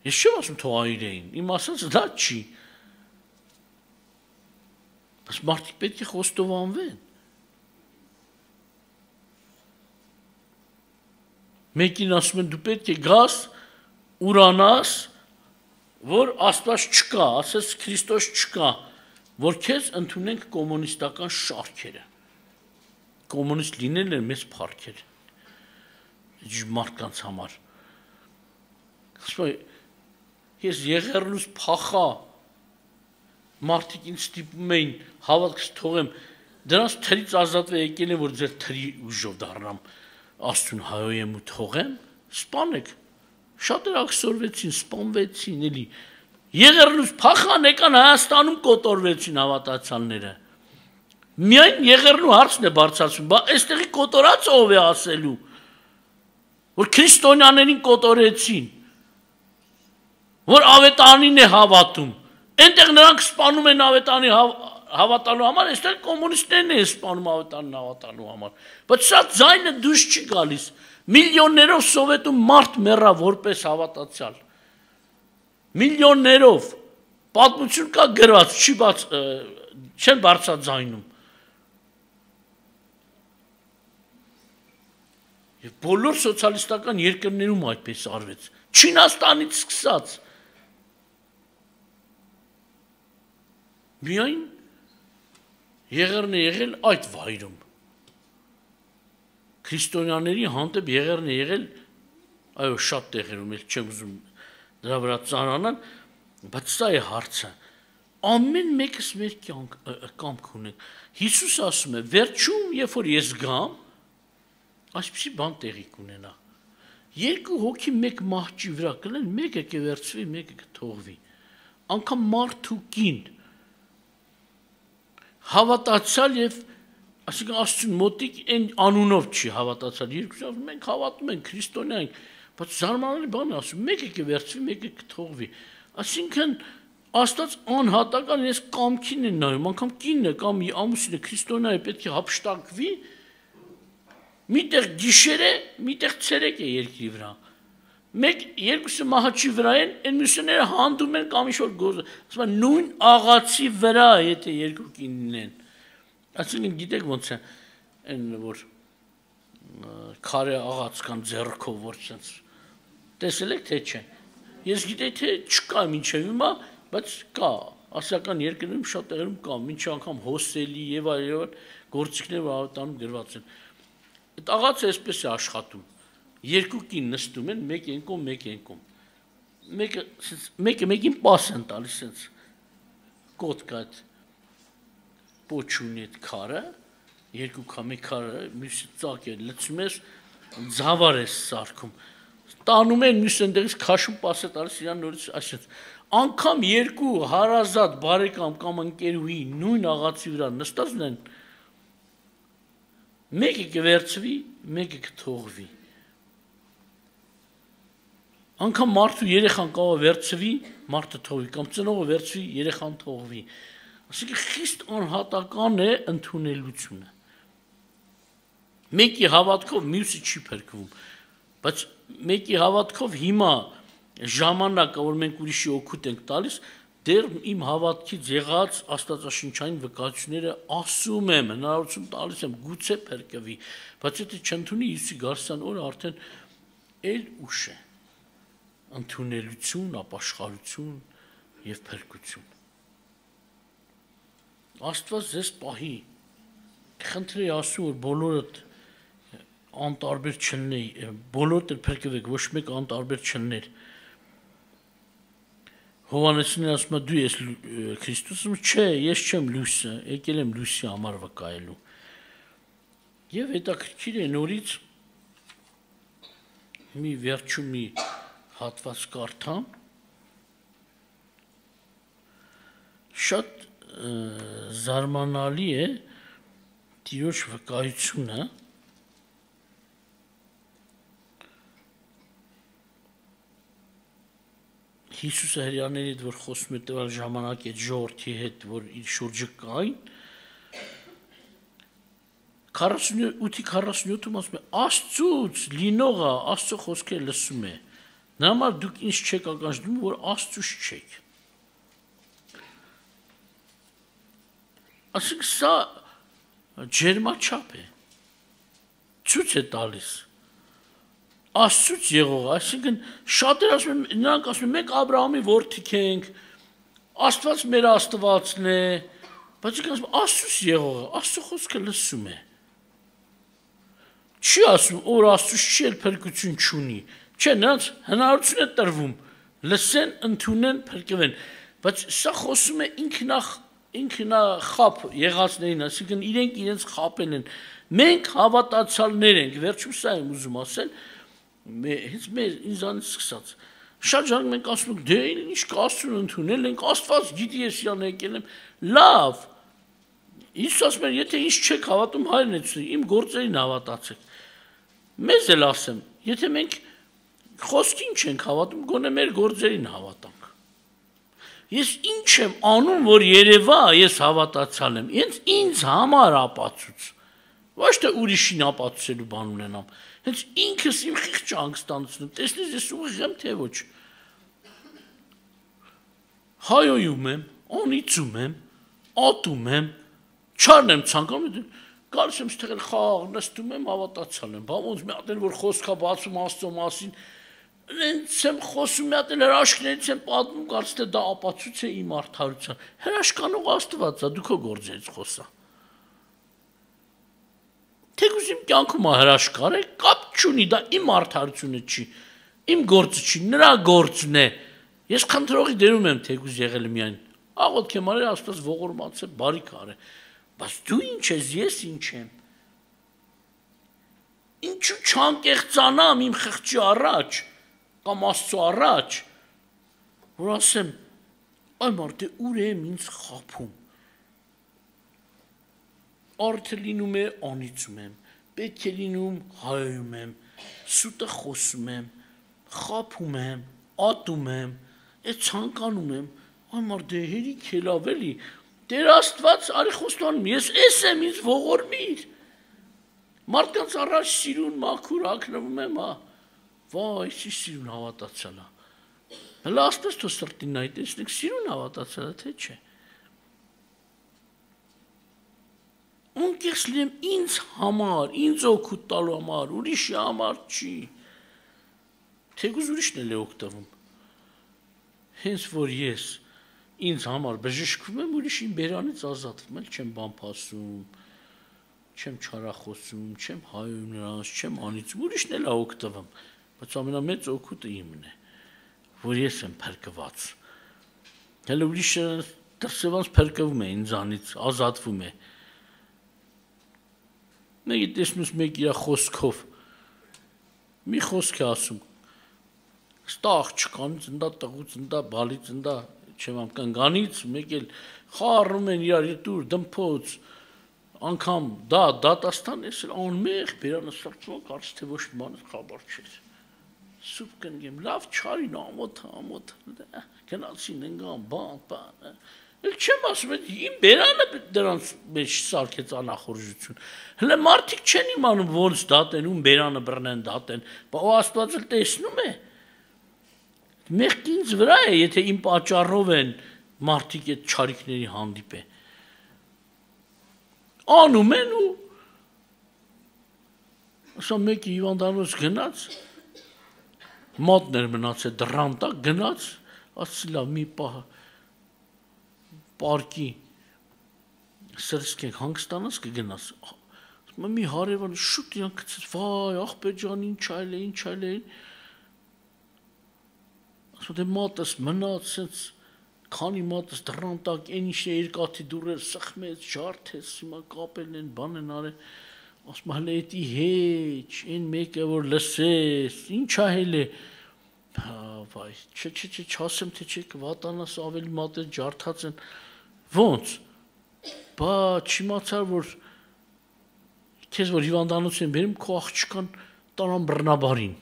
Ես չեմ ասում թող այրեին, իմ ասածը դա չի։ Բայց մարդիկ պետք է խոստովանվեն։ Մեկին ասում են դու պետք է գաս, ուրանաս, որ Աստված չկա, ասես Քրիստոս չկա, որ քեզ ընդունենք կոմունիստական շարքերը։ Կոմունիստ լինելն է մեծ փառքեր։ Մարդկանց համար։ Ես եղեռնուս փախա, մարդիկ ինձ ստիպում էին հավատքս թողեմ, դրանց թրից ազատվել եկել են, որ ձեր թրի ուժով դառնամ, Աստծուն հայոյեմ ու թողեմ, սպանեք, շատեր աքսորվեցին, սպանվեցին, էլի, եղեռնուս փախան եկան Հայաստանում կոտորվեցին հավատացյալները, միայն եղեռնու հարցն է բարձրացում, բա այստեղի կոտորածը ով է ասելու, որ քրիստոնյաներին կոտորեցին, որ ավետարանին է հավատում, այնտեղ նրանք սպանում են ավետարանի հավատալու համար, այստեղ կոմունիստներն են սպանում ավետարանին հավատալու համար, բայց սա ձայնը դուրս չի գալիս, միլիոններով Սովետում մարդ մեռավ որպես հավատացյալ, միլիոններով, պատմություն կա գրված, չեն բարձրաձայնում, եւ բոլոր սոցիալիստական երկրներում այդպես արվեց, Չինաստանից սկսած, միայն եղերն է եղել այդ վայրում, քրիստոնյաների հանդեպ եղերն է եղել, այո շատ տեղերում, էլ չեմ ուզում դրա վրա ծանրանալ, բայց սա է հարցը, ամեն մեկս մեր կամք ունենք, Հիսուս ասում է, վերջում, երբ որ ես գամ, այսպիսի բան տեղի կունենա, երկու հոգի մեկ մահճի վրա կլեն, մեկը կվերցվի, մեկը կթողվի, անգամ մարդ ու կին, հավատացյալ եւ այսինքն Աստծուն մոտիկ այն անունով չի հավատացյալ, երկուսով մենք հավատում ենք, քրիստոնյա ենք, բայց զարմանալի բան է ասում, մեկը կվերցվի, մեկը կթողվի, այսինքն Աստված անհատական ես կամքին են նայում, անգամ կինն է կամ ամուսինը քրիստոնյա է պետք է հափշտակվի, միտեղ գիշեր է, միտեղ ցերեկ է երկրի վրա, մեկ երկուսը մահաճի վրա են, այն մյուսները հանդում են կամ ինչ-որ գործ, ասում են նույն աղացի վրա, եթե երկու կինն են, այսինքն գիտեք ոնց է, այն որ քարե աղաց կան ձեռքով, որ sense տեսել եք թե չէ, ես գիտեի թե չկա մինչև հիմա, բայց կա, ասիական երկրներում շատ տեղերում կա, մինչև անգամ հոսելի եւ այլ գործիքներ որ ավետանում գրված են, այդ աղացը այսպես է աշխատում, երկու կին նստում են, մեկ ենկում, մեկը մեկին պաս են տալիս, sense կոտկա այդ պոչունի այդ քարը, երկու քամի քարը, մյուսը ծակ է, լցում ես, ձավար ես սարքում, տանում են մյուս ընդեղից քաշում պաս է տալիս, իրան նորից այսպես, անգամ երկու հարազատ բարեկամ կամ ընկերուհի նույն աղացի վրա նստածն են, մեկը կվերցվի, մեկը կթողվի, անգամ մարդու երեխան կարող վերցվի, մարդը թողվի, կամ ծնողը վերցվի, երեխան թողվի, այսինքն խիստ անհատական է ընդունելությունը, մեկի հավատքով մյուսը չի փրկվում, բայց մեկի հավատքով հիմա ժամանակը, որ մենք ուրիշի օգուտ ենք տալիս, դեռ իմ հավատքից եղած աստվածաշնչային վկայությունները ասում եմ, հնարավորություն տալիս եմ, գուցե փրկվի, բայց եթե չընդունի Հիսուսի Գարսյան օրը արդեն էլ ուշ է, ընդունելություն, ապաշխարություն եւ փրկություն։ Աստված ձեզ պահի, խնդրի ասում, որ բոլորդ անտարբեր չլնեի, բոլորդ էլ փրկվեք, ոչ մեկ անտարբեր չլներ։ Հովհաննեսին ասում է դու ես Քրիստոսը, չէ, ես չեմ լույսը, եկել եմ լույսի համար վկայելու։ Եվ հետաքրքիր է նորից մի վերջում մի հատված կարդամ, շատ զարմանալի է Տիրոջ վկայությունը, Հիսուսը հրյաների հետ որ խոսում է տվյալ ժամանակ այդ ժողովրդի հետ, որ իր շուրջը կային, 48-47-ում ասում է, Աստծուց լինողը Աստծո խոսքերը լսում է։ Նրա համար դուք ինձ չեք ականջնում, որ Աստծուց չեք։ Ասենք սա ջերմաչափ է։ Ցույց է տալիս։ Աստծուց եղող, այսինքն շատեր ասում են, նրանք ասում են, մենք Աբրահամի որդիք ենք, Աստված մեր Աստվածն է, բայց ինքն ասում Աստծուց եղողը, Աստծո խոսքը լսում է։ Չի ասում, որ Աստծուց չի էլ փրկություն չունի։ Չէ, նրանց հնարավորություն է տրվում, լսեն, ընդունեն, փրկվեն, բայց սա խոսում է ինքնախապ եղածներին, այսինքն իրենք իրենց խապել են։ Մենք հավատացյալներ ենք, վերջում սա եմ ուզում ասել, հենց մեր ինձանից սկսած։ Շատ ժանակ մենք ասում ենք, դե ինչ կա Աստծուն ընդունել ենք, Աստված գիտի ես իրան եկել եմ, լավ։ Իսկ ասում են, եթե ինչ չեք հավատում, հայրն է ցույց, իմ գործերին հավատացեք։ Մեզ էլ ասեմ, եթե մենք խոսքին չենք հավատում, գոնե մեր գործերին հավատանք։ Ես ինչ եմ անում, որ երևա, ես հավատացյալ եմ, ինձ համար ապացույց։ Ոչ թե ուրիշին ապացուցելու բան ունենամ։ Հենց ինքս իմ խիղճը հանգստացնում, տեսնես ես ուղիղ եմ, թե ոչ։ Հայոյում եմ, անիծում եմ, ատում եմ, չարն եմ ցանկանում, գալիս եմ ստեղել խաղ, նստում եմ, հավատացյալ եմ, բա ոնց մի հատ էլ որ խոսքա բացում Աստծո մասին, ինձ եմ խոսում մի հատ էլ հրաշքներից եմ պատմում, կարծես թե դա ապացույց է իմ արդարության։ Հրաշքանող Աստված է, դու քո գործերից խոսա։ Թեկուզ իմ կյանքում հրաշք արեք, կապ չունի, դա իմ արդարությունը չի, իմ գործը չի, նրա գործն է։ Ես խնդրողի դերում եմ թեկուզ եղել միայն։ Աղոթք եմ արել, Աստված ողորմած է, բարիք արե։ Բայց դու ինչ ես, ես ինչ եմ։ Ինչու չանկեղծանամ իմ խղճի առաջ, կամ Աստծո առաջ, որ ասեմ, այ մարդ է ուր եմ ինձ խափում։ Արդը լինում է անիծում եմ, պետք է լինում հայոյում եմ, սուտը խոսում եմ, խափում եմ, ատում եմ, այդ ցանկանում եմ, այ մարդ է հերիք ելավ էլի, Տեր Աստված արի խոստանում, ես էս եմ ինձ ողորմիր։ Մարդկանց առաջ սիրուն մաքուր ակնվում եմ, վայ, ինչ սիրուն հավատացյալ է։ Հələ ասպես թո սրտին նայ, տեսնեք սիրուն հավատացյալ է, թե չէ։ Անկեղծ լինեմ ինձ համար, ինձ օգուտ տալու համար, ուրիշի համար չի։ Թեկուզ ուրիշն էլ է օգտվում։ Հենց որ ես ինձ համար բժշկվում եմ, ուրիշին բերանից ազատվում, էլ չեմ բան փասում, չեմ չարախոսում, չեմ հայում նրանց, չեմ անիծում, ուրիշն էլ է օգտվում, բայց ամենամեծ օգուտը իմն է, որ ես եմ փրկված։ Հələ ուրիշը դրսևորած փրկվում է ինձանից, ազատվում է։ Մեկի տեսնուս մեկ իր խոսքով մի խոսք է ասում, ստա աղջկանից, ընդա տղուց, ընդա բալից, ընդա չեմ կնգանից, մեկ էլ խառնում են իրար դուր, դմփոց, անգամ դա դատաստան ես էլ անմեղ բերանը սրծում, կարծես թե ոչ մի բանից խաբար չէր։ Սուպ կնգեմ, լավ չարին ամոթ, գնացին ընկան, բան, էլ չեմ ասում, իմ բերանը դրանց մեջ սարքեց անախորժություն։ Հələ մարդիկ չեն իմանում ոնց դատեն, ում բերանը բռնեն դատեն, բա Աստված էլ տեսնում է։ Մեղք ինձ վրա է, եթե իմ պատճառով են մարդիկ այդ չարիքների հանդիպե։ Անում են ու ասա մեկի հիվանդանոց գնաց, մատներ մնացել դռան տակ գնաց, ասի լավ մի պահ պարկի սրսկենք հանգստանաս կգնաս, մի հարևան շուտ իրան գցեց, վայ աղբեր ջան ինչ այլ է, ասում դե մատս մնաց, սենց քանի մատս դռան տակ, այն ինչ երկաթի դուրեր սխմեց, ջարդեց, հիմա կապել են, բան են արել, ասում հələ էտի հեչ, այն մեկը որ լսես, ինչ ահել է, վայ, չասեմ թե չեք վատանաս ավելի մատեր ջարդած են, ոնց, բա չիմացար որ քեզ որ հիվանդանոց են բերում քո աղջկան տարան բռնաբարին,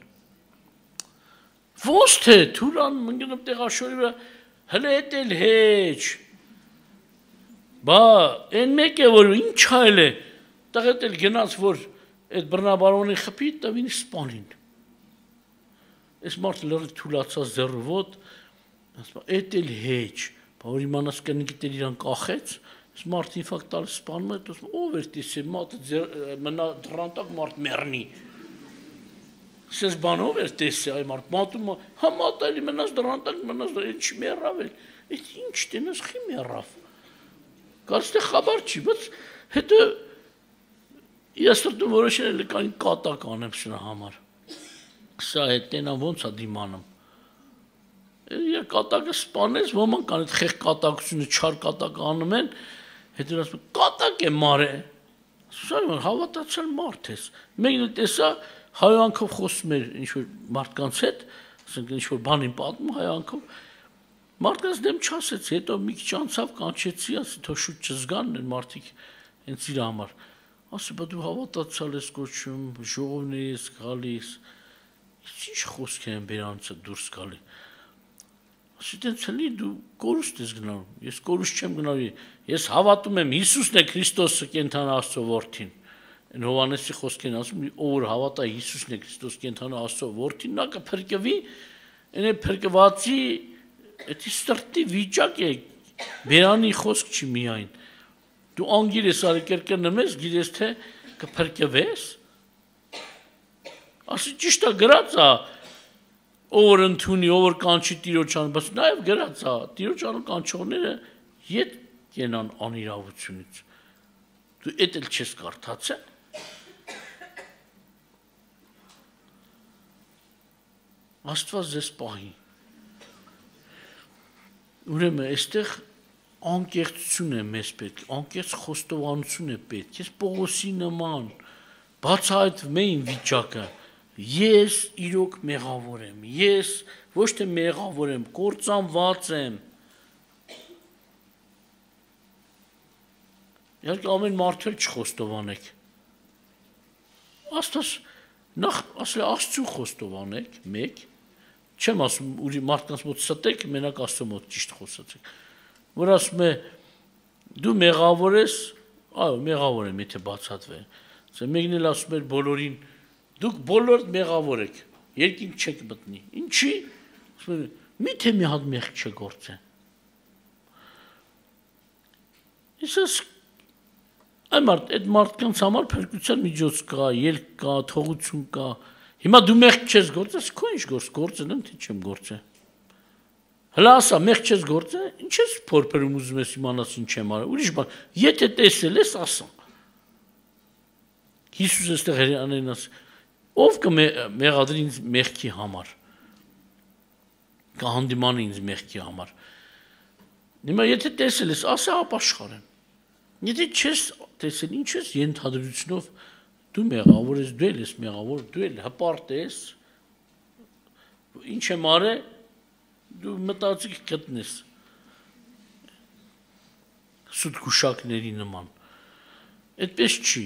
Ոնց թե թուրան մնգնում տեղաշորի վրա հələ էդ էլ հեչ բա այն մեկը որ ինչ այլ է տղետ էլ գնաց որ այդ բռնաբարոնի խփի տվին սպանին այս մարդը լրիվ թուլացած ձեռովոտ ասում էդ էլ հեչ բա որ իմանաս կնիկիտեր իրան կախեց այս մարդը ինֆակտ տալիս սպանում է ասում ով էր տեսել մատը մնա դրանտակ մարդ մեռնի Սես բանով էր տեսել այ մարդ մատում համատալի մնաց դրանտակ մնաց ինչ մեռավ էլ այդ ինչ տենաս խի մեռավ Կարծես թե խաբար չի բայց հետո ես դու որոշել եմ կային կատակ անեմ սրա համար սա է տենա ոնց է դիմանում Իր կատակը սպանես ոմանք ան այդ խեղ կատակությունը չար կատակ անում են հետո ասում կատակ է մարե սա հավատացել մարդ ես մեկն էլ տեսա հայանքով խոսում էր ինչ-որ մարդկանց հետ, ասենք ինչ-որ բանին պատմում հայանքով, մարդկանց դեմ չասեց, հետո մի քիչ անցավ կանչեցի, ասի թող շուտ չզգան են մարդիկ հենց իր համար, ասի բա դու հավատացյալ ես կոչում, ժողովներ ես գալիս, ինչ խոսք են բերանցը դուրս գալի, ասի տենց հլի դու կորուստ ես գնալու, ես կորուստ չեմ գնալու, ես հավատում եմ Հիսուսն է Քրիստոսը կենդան Աստծո որդին Են Հովանեսի խոսքեն ասում ով հավատա Հիսուսն է Քրիստոս կենթանա Աստծո որդին նա կփրկվի այն փրկվածի այդ սրտի վիճակ է բերանի խոսք չի միայն դու անգիր ես արի կրկնում ես գիտես թե կփրկվես ասի ճիշտ է գրած է ով ընդունի ով կանչի տիրոջան բայց նաև գրած է տիրոջան կանչողները ետ կենան անիրավությունից դու էդ էլ չես կարդացել Աստված ձեզ պահի։ Ուրեմն այստեղ անկեղծություն է մեզ պետք, անկեղծ խոստովանություն է պետք։ Ես Պողոսի նման բացահայտվում է իմ վիճակը։ Ես իրոք մեղավոր եմ։ Ես ոչ թե մեղավոր եմ, կործանված եմ։ Իհարկե ամեն մարդու չխոստովանեք։ Աստված նախ ասել Աստծու խոստովանեք, մեկ Չեմ ասում ուրի մարդկանց մոտ ստեք, մենակ Աստծո մոտ ճիշտ խոսացեք։ Որ ասում է դու մեղավոր ես, այո, մեղավոր եմ, եթե բացատրվի։ Սա մեկն էլ ասում էր բոլորին դուք բոլոր մեղավոր եք, երկինք չեք մտնի։ Ինչի՞։ Ասում է միթե մի հատ մեղ չգործեն։ Իսես այդ մարդկանց համար փրկության միջոց կա, ելք կա, թողություն կա։ Հիմա դու մեղք չես գործես, քո ինչ գործել եմ, թե չեմ գործել։ Հլա ասա, մեղք չես գործել, ինչ ես փորփրում ուզում ես իմանաս ինչ եմ արել։ Ուրիշ բան, եթե տեսել ես, ասա։ Հիսուս էստեղ հերյանեն ասա, ով կմեղադրի ինձ մեղքի համար։ Կհանդիմանի ինձ մեղքի համար։ Հիմա եթե տեսել ես, ասա ապաշխարեմ։ Եթե չես տեսել, ինչ ես ենթադրությունով դու մեղավոր ես, դու ես մեղավոր, դու էլ հպարտ ես, ինչ եմ արել, դու մտածիկ գտնես սուտ գուշակների նման։ Այդպես չի։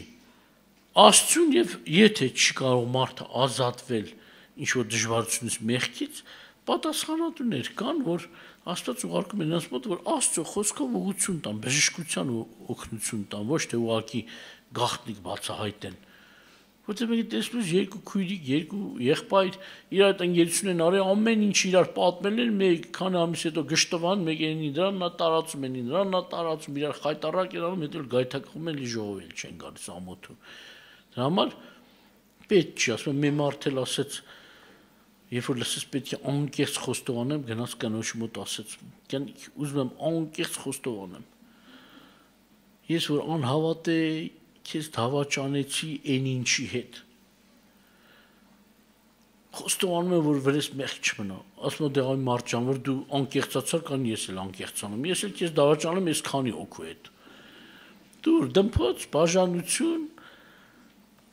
Աստծուն եւ եթե չի կարող մարդը ազատվել ինչ-որ դժվարությունից մեղքից, պատասխանատուներ կան, որ Աստված ուղարկում է նրանց մոտ, որ Աստծո խոսքով ուղղություն տան, բժշկության օգնություն տան, ոչ թե ուղղակի գաղտնիք բացահայտեն։ Որտեղ մենք տեսնում ենք երկու քույրիկ, երկու եղբայր իրար տնգերություն են արել, ամեն ինչ իրար պատմել են, մեկ քանի ամիս հետո գշտվան, մեկին իրան նա տարածում են, իրան նա տարածում, իրար խայտարակ են անում, հետո գայթակղում են, ժողովել չեն գալիս ամոթու։ Դրա համար պետք չի, ասում եմ, մի մարդ էլ ասեց Երբ որ լսես պետք է անկեղծ խոստովանեմ, գնաց կնոջ մոտ ասեց, ուզում եմ անկեղծ խոստովանեմ։ Ես որ անհավատ է, քեզ դավաճանեցի այն ինչի հետ։ Խոստովանում եմ, որ վրես մեղք չմնա։ Ասում եմ դե այ մարդ ջան, որ դու անկեղծացար, կան ես էլ անկեղծանում։ Ես էլ քեզ դավաճանում ես քանի օքու հետ։ Դուր դմփոց, բաժանություն,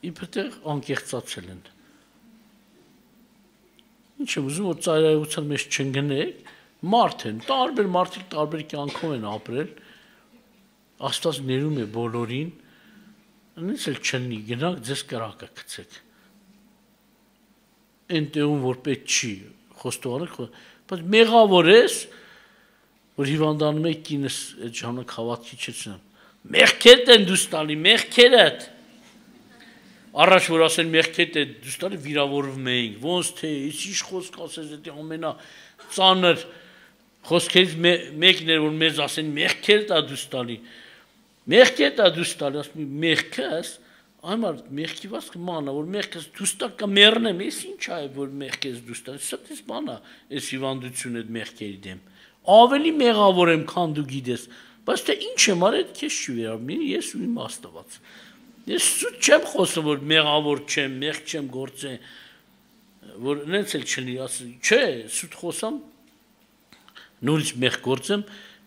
իբրտեղ անկեղծացել են։ Ինչ եմ ուզում, որ ծայրահեղության մեջ չընկնեք, մարդ են, տարբեր մարդիկ տարբեր կյանքով են ապրել, Աստված ներում է բոլորին, նույնիսկ էլ չլինի, գնաք ձեզ կրակը գցեք։ Այն տեղում, որ պետք չի, խոստովանեք, բայց մեղավոր ես, որ հիվանդանում եք կինս այդ ժամանակ հավատքի չեցնեմ։ Մեղքերդ են դուս տալի, մեղքերդ։ Առաջ որ ասեն մեղքերդ է դուս տալի վիրավորվում էինք, ոնց թե ինչ խոսք ասես դա ամենա ծանր խոսքերից մեկն էր որ մեզ ասեն մեղքերդ է դուս տալի։ Մեղքերդ է դուս տալի, ասում մեղքս Այմար մեղքի վասկը մանա, որ մեղքս դուս տա կմեռնեմ, ես ինչ է, որ մեղքես դուս տա, սա դες մանա, ես հիվանդություն այդ մեղքերի դեմ, ավելի մեղավոր եմ, քան դու գիտես, բայց թե ինչ եմ արել, քեզ չի վերաբերում, ես ու իմ Աստված, ես սուտ չեմ խոսում, որ մեղավոր չեմ, մեղք չեմ գործել, որ նենց էլ չլինի, ասում, չէ, սուտ խոսամ, նորից մեղք գործեմ,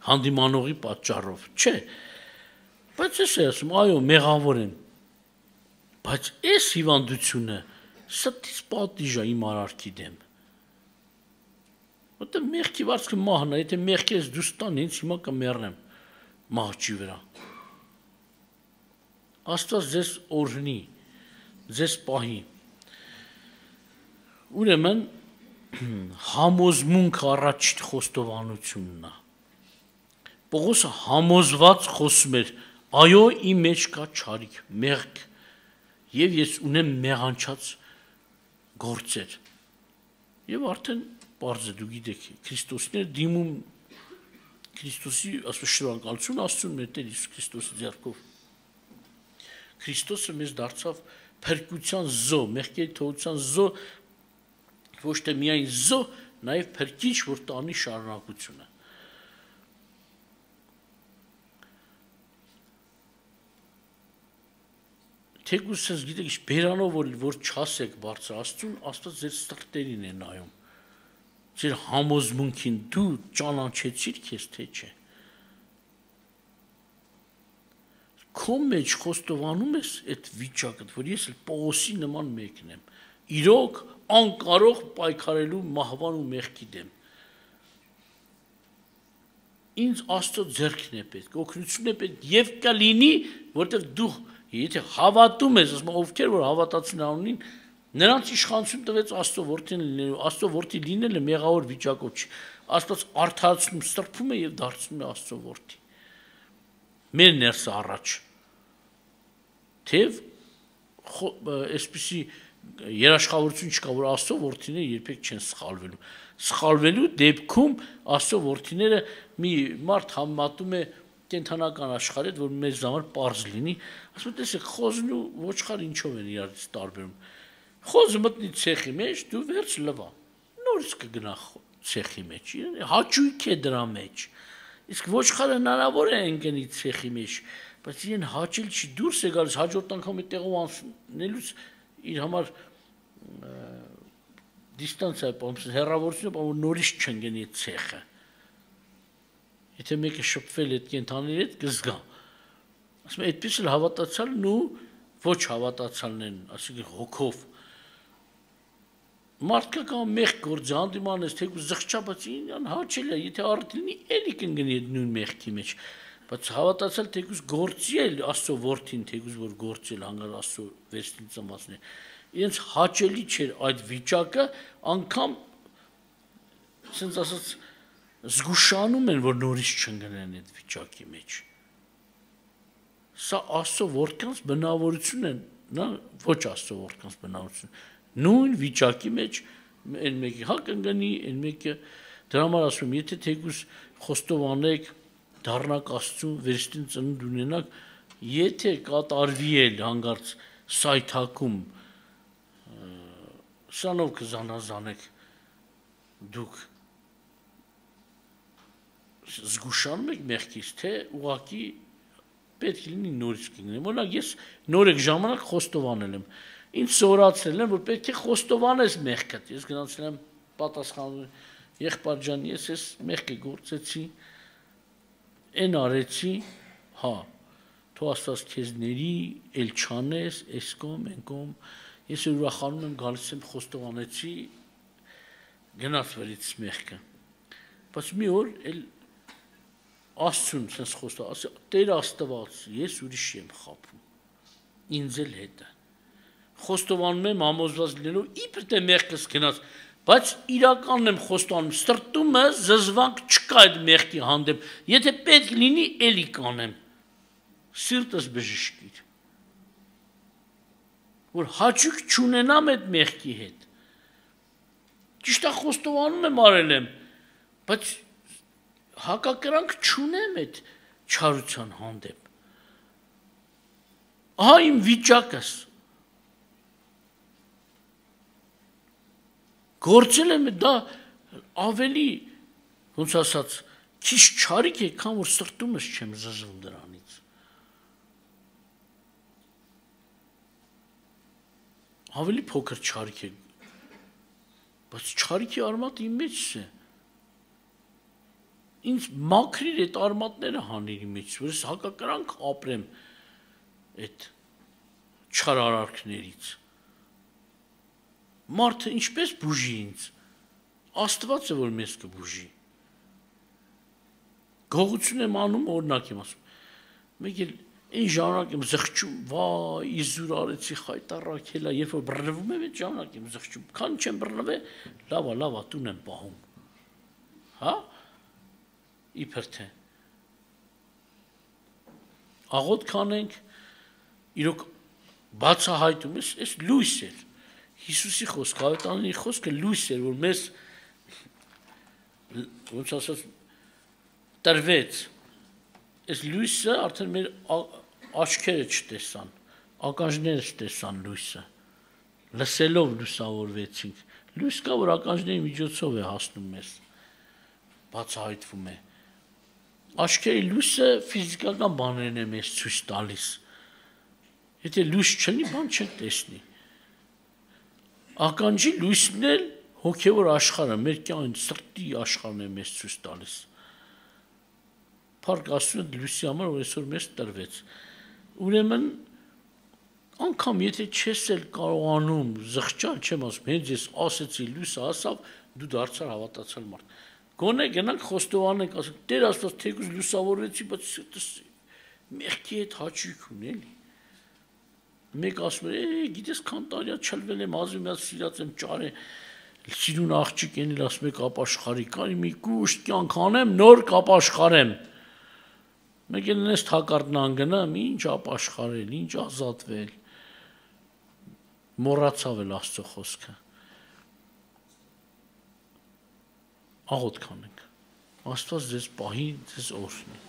հանդիմանողի պատճառով, չէ, բայց ես ասում, այո, մեղավոր եմ, բայց այս հիվանդությունը ստից պատիժ է իմ արարքի դեմ։ Որտե մեղքի վարձքը մահն է, եթե մեղքես դուս տան, ինձ հիմա կմեռնեմ մահճի վրա։ Աստված ձեզ օրհնի, ձեզ պահի։ Ուրեմն համոզմունք առաջին խոստովանությունն է։ Պողոսը համոզված խոսում էր, այո, իմ մեջ կա չարիք, մեղք Եվ ես ունեմ մեղանչած գործեր։ Եվ արդեն պարզ է, դու գիտեք, Քրիստոսն էր դիմում Քրիստոսի ասում շնորհակալություն Աստծուն մեր Տեր Հիսուս Քրիստոսի ձեռքով։ Քրիստոսը մեզ դարձավ փրկության զո, մեղքերի թողության զո, ոչ թե միայն զո, նաև փրկիչ, որ տանի շարունակությունը։ Թեկուզ ես գիտեք, ինչ բերանով որ չասեք բարձր Աստծուն, Աստված ձեր սրտերին է նայում։ Ձեր համոզմունքին դու ճանաչեցիր քեզ թե չէ։ Քո մեջ խոստովանում ես այդ վիճակը, որ ես էլ Պողոսի նման մեկն եմ։ Իրոք անկարող պայքարելու մահվան ու մեղքի դեմ։ Ինձ Աստծո ձեռքն է պետք, օգնությունն է պետք եւ կլինի, որտեղ դու Եթե հավատում ես, ասում ովքեր որ հավատացին անունին, նրանց իշխանություն տվեց Աստծո որդին լինելու, Աստծո որդի լինելը մեղավոր վիճակով չի։ Աստված արդարացնում, սրբում է եւ դարձնում է Աստծո որդի։ Մեր ներսը առաջ։ Թեև այսպիսի երաշխավորություն չկա, որ Աստծո որդիները երբեք չեն սխալվելու։ Սխալվելու դեպքում Աստծո որդիները մի մարդ համատում է կենթանական աշխարհը, որ մեզ համար པարզ լինի, ասում տեսեք, խոզն ու ոչխարը ինչով են իրարից տարբերում։ Խոզը մտնի ցեխի մեջ, դու վերջ լվա։ Նորից կգնա ցեխի մեջ, հաճույք է դրա մեջ։ Իսկ ոչխարը հնարավոր է ընկնի ցեխի մեջ, բայց իրեն հաճել չի դուրս է գալիս, հաջորդ անգամ այդտեղով անցնելուց իր համար դիստանցիա է պահում, հեռավորությունը պահում, նորից չընկնի ցեխը։ Եթե մեկը շփվել այդ կենթաների հետ կզգա։ Ասում եմ, այդպես էլ հավատացյալն ու ոչ հավատացյալն են, ասենք հոգով։ Մարդկա կամ մեղք գործի հանդիման ես, թեկուզ զղջաբաց ինան հաճել է, եթե առդ լինի, էլի կընկնի այդ նույն մեղքի մեջ։ Բայց հավատացյալ թեկուզ գործի էլ Աստծո որդին, թեկուզ որ գործել հանգար Աստծո վերստին ծնվածն է։ Իրենց հաճելի չէր այդ վիճակը, անգամ ասենց ասած զգուշանում են, որ նորից չընկնեն այդ վիճակի մեջ։ Սա Աստծո որդկանց բնավորություն են, նա ոչ Աստծո որդկանց բնավորություն։ Նույն վիճակի մեջ այն մեկի հա կընկնի, այն մեկը դրա համար ասում եմ, եթե թեկուզ խոստովանեք, դառնաք Աստծուն վերստին ծնունդ ունենաք, եթե կատարվի էլ հանգարց սայթակում, սրանով կզանազանեք դուք զգուշանում եք մեղքից, թե ուղղակի պետք է լինի նորից կգնեմ։ Օրինակ ես նորեկ ժամանակ խոստովանել եմ։ Ինձ սովորացրել են, որ պետք է խոստովանես մեղքդ։ Ես գնացել եմ պատասխանում եղբայր ջան, ես էս մեղքը գործեցի, այն արեցի, հա, թող Աստված քեզ ների, էլ չանես, էս կողմ, այն կողմ։ Ես ուրախանում եմ, գալիս եմ խոստովանեցի, գնաց վերից մեղքը։ Բայց մի օր էլ Աստծուն sense խոստա, ասա Տեր Աստված, ես ուրիշ եմ խափում։ Ինձ էլ հետը։ Խոստովանում եմ համոզված լինելով, իբր թե մեղքս գնաց, Բայց իրականն եմ խոստանում, սրտումը զզվանք չկա այդ մեղքի հանդեպ, եթե պետք լինի, էլի կանեմ, սիրտս բժշկիր, որ հաճույք չունենամ այդ մեղքի հետ, ճիշտ է խոստովանում եմ արել եմ, բայց հակակրանք չունեմ այդ չարության հանդեպ, ահա իմ վիճակս, գործել եմ դա ավելի, ոնց ասած, քիչ չարիք է, քան որ սրտումս չեմ զզվում դրանից։ Ավելի փոքր չարիք է, բայց չարիքի արմատը իմ մեջս է։ Ինձ մաքրիր այդ արմատները հանիր իմ մեջս, որ ես հակակրանք ապրեմ այդ չար արարքներից։ Մարդը ինչպես բուժի ինձ, Աստված է, որ մեզ կբուժի, գողություն եմ անում, օրինակ եմ ասում, մեկ էլ այն ժամանակ եմ զղջում, վայ, իզուր արեցի խայտառակ հելա, երբ որ բռնվում եմ, այդ ժամանակ եմ զղջում, քան չեմ բռնվել, լավա, տուն եմ պահում, հա, իբր թե, աղոտ կանենք, իրոք բացահայտում ես, այս լույս էր, Հիսուսի խոսքը, ավետարանի խոսքը լույս էր, որ մեզ ոնց ասած տրվեց, այս լույսը արդեն մեր աչքերը չտեսան, ականջները չտեսան լույսը, լսելով լուսավորվեցինք, լույս կա, որ ականջների միջոցով է հասնում մեզ, բացահայտվում է, աչքերի լույսը ֆիզիկական բաներն է մեզ ցույց տալիս, եթե լույս չլինի, բան չեն տեսնի, ականջի լույսն էլ հոգևոր աշխարհը, մեր կյանքի սրտի աշխարհն է մեզ ցույց տալիս։ Փառք Աստծուն լույսի համար, որ այսօր մեզ տրվեց։ Ուրեմն անգամ եթե չես էլ կարողանում զղջալ, չեմ ասում, հենց ես ասեցի լույսը հասավ, դու դարձար հավատացյալ մարդ։ Գոնե գնանք խոստովանենք, ասենք, Տեր Աստված, թեկուզ լուսավորեցի, բայց մեղքի հետ հաճույք ունի էլի։ Մեկ ասում է, գիտես քան տարիա չլվել եմ, ազում եմ սիրած եմ ճարե, սիրուն աղջիկ էնել ասում եք ապաշխարի, կարի մի կուշտ կյանք անեմ, նոր կապաշխարեմ։ Մեկ էլ նես թակարդն անգնամ, ինչ ապաշխարել, ինչ ազատվել, մոռացավ էլ Աստծո խոսքը։ Աղոտ կանենք, Աստված ձեզ պահի, ձեզ օրհնի։